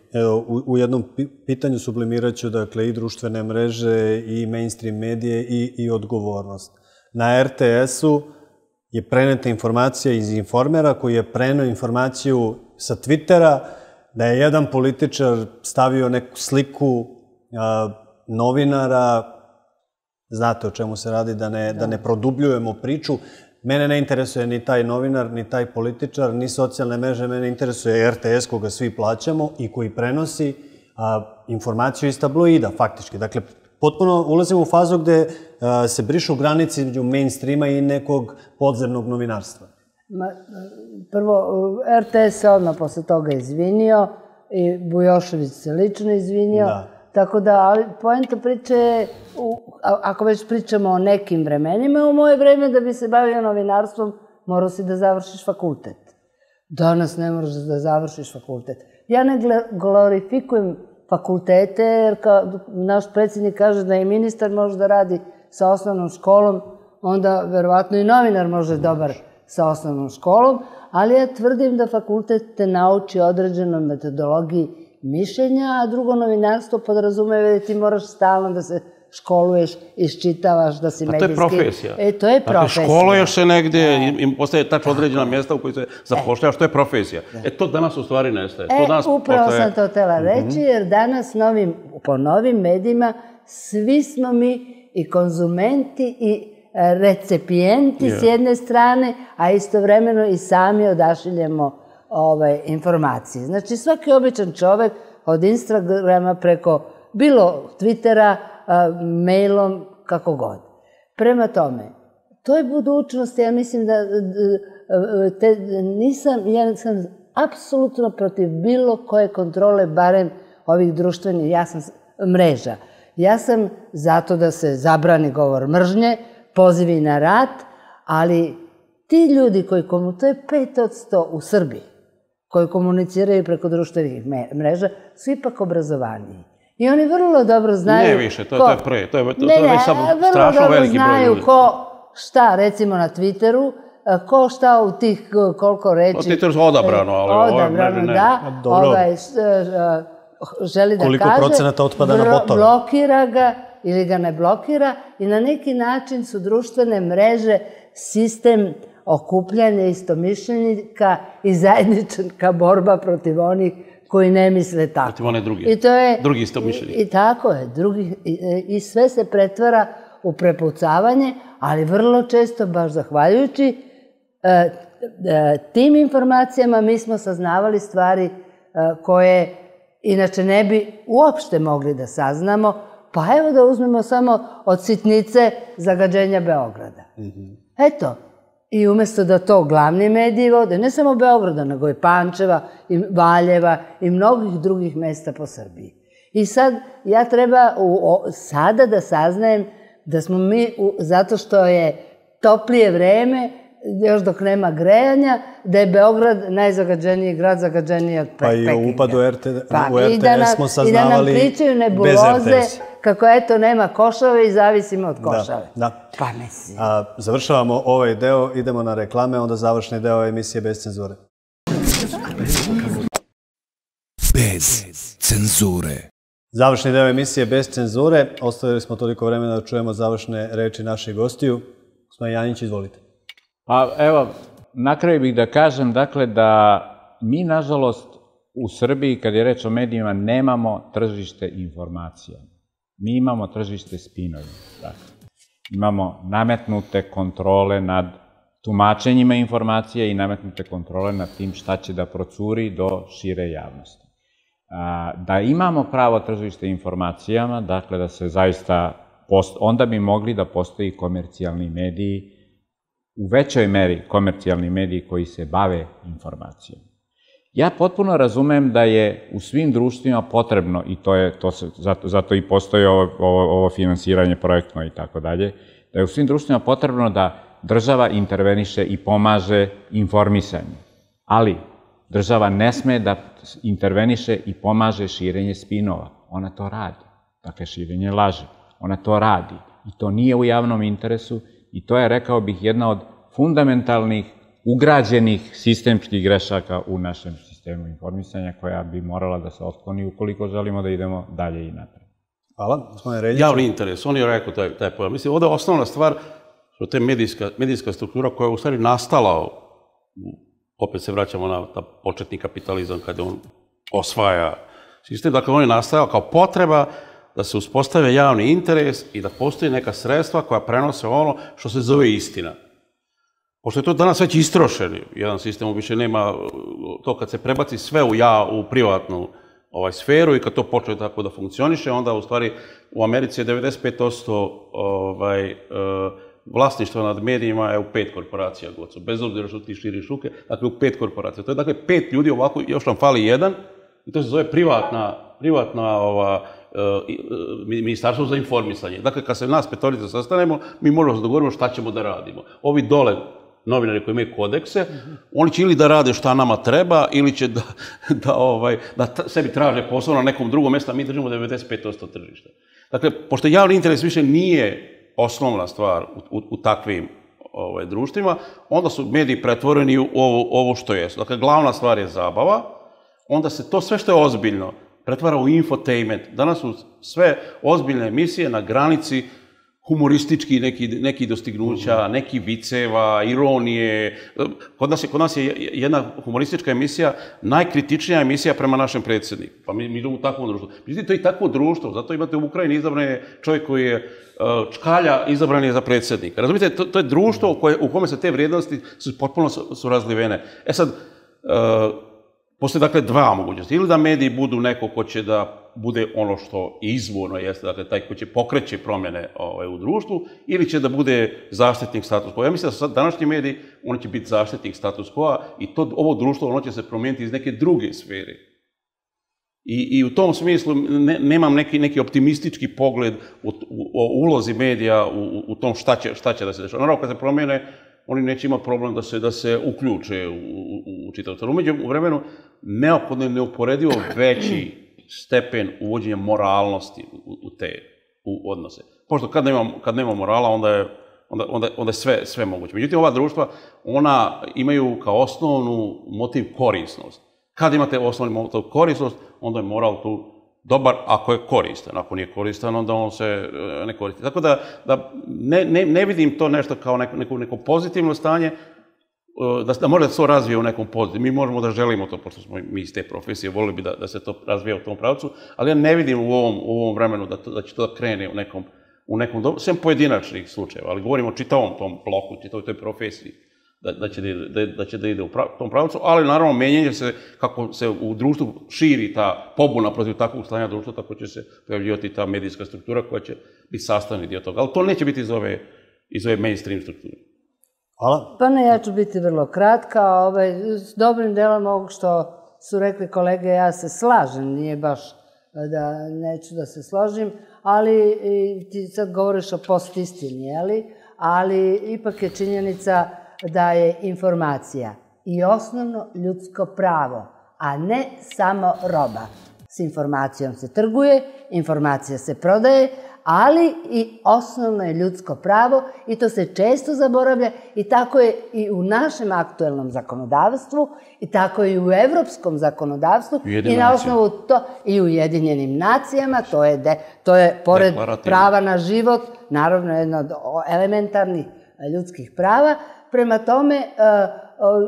u jednom pitanju sublimirat ću dakle i društvene mreže i mainstream medije i odgovornost. Na RTS-u je preneta informacija iz Informera koji je preneo informaciju sa Twittera da je jedan političar stavio neku sliku novinara, znate o čemu se radi, da ne produbljujemo priču. Mene ne interesuje ni taj novinar, ni taj političar, ni socijalne mreže, mene interesuje RTS koga svi plaćamo i koji prenosi informaciju iz tabloida, faktički. Dakle, potpuno ulazimo u fazu gde se brišu granice između mainstreama i nekog podzemnog novinarstva.
Prvo, RTS se odmah posle toga izvinio i Bujošević se lično izvinio. Tako da, ali poenta priče je, ako već pričamo o nekim vremenima, u moje vreme da bi se bavio novinarstvom morao si da završiš fakultet. Danas ne moraš da završiš fakultet. Ja ne glorifikujem fakultete, jer naš predsjednik kaže da i ministar može da radi sa osnovnom školom, onda verovatno i novinar može dobar sa osnovnom školom, ali ja tvrdim da fakultet te nauči određenoj metodologiji mišljenja, a drugo novinarstvo podrazumeva da ti moraš stalno da se školuješ, iščitavaš, da si medijski...
A to je profesija.
To je profesija.
Dakle, školuješ se negdje i postaje tačno određena mjesta u kojoj se zapošljavaš, to je profesija. To danas u stvari nestaje.
Upravo sam to htjela reći, jer danas po novim medijima svi smo mi i konzumenti i recepijenti s jedne strane, a istovremeno i sami odašiljemo informacije. Znači, svaki običan čovek od Instagrama preko bilo Twittera, mailom, kako god. Prema tome, to je budućnost, ja mislim da ja sam apsolutno protiv bilo koje kontrole, barem ovih društvenih mreža. Ja sam zato da se zabrani govor mržnje, pozivi na rat, ali ti ljudi koji to je 5% u Srbiji, koji komuniciraju preko društvenih mreža, su ipak obrazovaniji. I oni vrlo dobro znaju...
Ne više, to je pre. To je već strašno veliki broj ljudi.
Znaju ko šta, recimo na Twitteru, ko šta u tih koliko reći...
Twitteru su odabrano, ali ove mreže ne.
Želi da kaže...
Koliko procenata otpada na botove?
Blokira ga ili ga ne blokira i na neki način su društvene mreže sistem okupljanja istomišljenika i zajednička borba protiv onih koji ne misle tako.
Protiv one drugi istomišljenika.
I tako je. I sve se pretvara u prepucavanje, ali vrlo često, baš zahvaljujući tim informacijama, mi smo saznavali stvari koje inače ne bi uopšte mogli da saznamo. Pa evo da uzmemo samo od sitnice zagađenja Beograda. Eto, i umjesto da to glavni mediji vode, ne samo Beograda, nego i Pančeva, i Valjeva, i mnogih drugih mesta po Srbiji. I sad, ja treba sada da saznajem da smo mi, zato što je toplije vreme, još dok nema grejanja, da je Beograd najzagađeniji grad, zagađeniji od Pekinga.
Pa i u upadu u RTS smo saznavali
i da nam pričaju nebuloze kako eto nema košave i zavisimo od košave. Pa mislim.
Završavamo ovaj deo, idemo na reklame, onda završni deo emisije Bez cenzure.
Bez cenzure.
Završni deo emisije Bez cenzure. Ostavili smo toliko vremena da čujemo završne reči naših gostiju. Gospodin Janjić, izvolite.
Pa evo, na kraju bih da kažem, dakle, da mi, nažalost, u Srbiji, kad je reč o medijima, nemamo tržište informacija. Mi imamo tržište spinovima. Imamo nametnute kontrole nad tumačenjima informacija i nametnute kontrole nad tim šta će da procuri do šire javnosti. Da imamo pravo tržište informacijama, dakle da se zaista, onda bi mogli da postoji komercijalni mediji, u većoj meri komercijalni mediji koji se bave informacijom. Ja potpuno razumem da je u svim društvima potrebno, i zato i postoji ovo finansiranje projektno i tako dalje, da je u svim društvima potrebno da država interveniše i pomaže informisanju. Ali država ne sme da interveniše i pomaže širenje spinova. Ona to radi. Dakle, širenje laži. Ona to radi. I to nije u javnom interesu i to je, rekao bih, jedna od fundamentalnih, ugrađenih sistemskih grešaka u našem sistemu informisanja koja bi morala da se otkloni ukoliko želimo da idemo dalje i napred.
Hvala. Gospodine Reljić.
Javni interes, on je rekao taj pojam. Mislim, ovdje je osnovna stvar što je medijska struktura koja je u stvari nastala, opet se vraćamo na početni kapitalizam kada on osvaja sistem, dakle on je nastajao kao potreba da se uspostave javni interes i da postoji neka sredstva koja prenose ono što se zove istina. Pošto je to danas već istrošeni jedan sistem, više nema to kad se prebaci sve u privatnu sferu i kad to počne tako da funkcioniše, onda u stvari u Americi je 95% vlasništva nad medijima je u 5 korporacija, bez obzira što ti širiš ruke, dakle u 5 korporacija. To je dakle 5 ljudi ovako, još nam fali jedan i to se zove privatna ministarstvo za informisanje. Dakle, kad se nas petorica sastanemo, mi možemo se dogovoriti šta ćemo da radimo. Ovi dole novinari koji imaju kodekse, oni će ili da rade šta nama treba, ili će da sebi traže posao na nekom drugom mjestu, a mi držimo 95% tržišta. Dakle, pošto javni interes više nije osnovna stvar u takvim društvima, onda su mediji pretvoreni u ovo što jesu. Dakle, glavna stvar je zabava, onda se to sve što je ozbiljno pretvara u infotainment. Danas su sve ozbiljne emisije na granici humoristički neki dostignuća, neki viceva, ironije. Kod nas je jedna humoristička emisija najkritičnija emisija prema našem predsjedniku. Pa mi idemo u takvom društvu. Međutim, to je i takvo društvo. Zato imate u Ukrajini izabran je čovjek koji je Čkalja, izabran je za predsjednika. Razumite, to je društvo u kome se te vrijednosti potpuno su razlivene. E sad, postoje dakle dva mogućnosti. Ili da mediji budu neko ko će da bude ono što izvorno jeste, dakle taj ko će pokreći promjene u društvu, ili će da bude zaštitnik status quo. Ja mislim da su sad današnji mediji, oni će biti zaštitnik status quo i ovo društvo ono će se promijeniti iz neke druge sfere. I u tom smislu nemam neki optimistički pogled o ulozi medija u tom šta će da se dešava. Naravno, kad se promijene, oni neće imati problem da se uključe u čitav to. U vremenu neophodno je neuporedivo veći stepen uvođenja moralnosti u te odnose. Pošto kad nema morala, onda je sve moguće. Međutim, ova društva, ona imaju kao osnovnu motiv korisnost. Kad imate osnovni motiv korisnost, onda je moral tu dobar ako je koristan. Ako nije koristan, onda on se ne koristi. Tako da ne vidim to nešto kao neko pozitivno stanje, da može da se to razvije u nekom pozitivnom. Mi možemo da želimo to, pošto smo mi iz te profesije, volili bi da se to razvije u tom pravcu, ali ja ne vidim u ovom vremenu da će to da krene u nekom sem pojedinačnih slučajeva, ali govorimo o čitavom tom bloku, čitavoj toj profesiji, da će da ide u tom pravcu, ali naravno menjanje se, kako se u društvu širi ta pobuna protiv takvog stanja društva, tako će se pojavljivati ta medijska struktura koja će biti sastavni dio toga, ali to neće biti iz ove mainstream strukture.
Hvala.
Pa ne, ja ću biti vrlo kratka. S dobrim delom ovog što su rekli kolege, ja se slažem, nije baš da neću da se složim, ali ti sad govoriš o postistini, ali ipak je činjenica da je informacija i osnovno ljudsko pravo, a ne samo roba. S informacijom se trguje, informacija se prodaje, ali i osnovno je ljudsko pravo i to se često zaboravlja i tako je i u našem aktuelnom zakonodavstvu i tako je i u evropskom zakonodavstvu i na osnovu to i u Ujedinjenim nacijama, to je pored prava na život, naravno jedno od elementarnih ljudskih prava. Prema tome,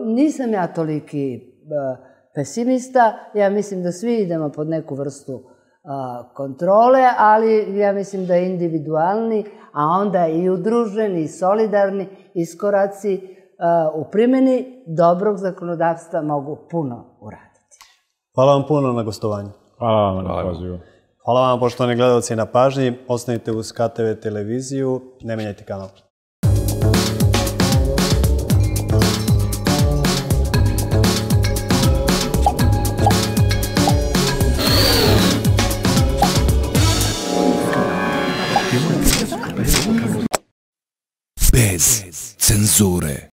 nisam ja toliki pesimista, ja mislim da svi idemo pod neku vrstu kontrole, ali ja mislim da je individualni, a onda i udruženi i solidarni iskoraci u primjeni dobrog zakonodavstva mogu puno uraditi.
Hvala vam puno na gostovanju.
Hvala vam na pozivu.
Hvala vam, poštovani gledalci, na pažnji. Ostanite uz KTV televiziju, ne menjajte kanal.
Bez cenzure.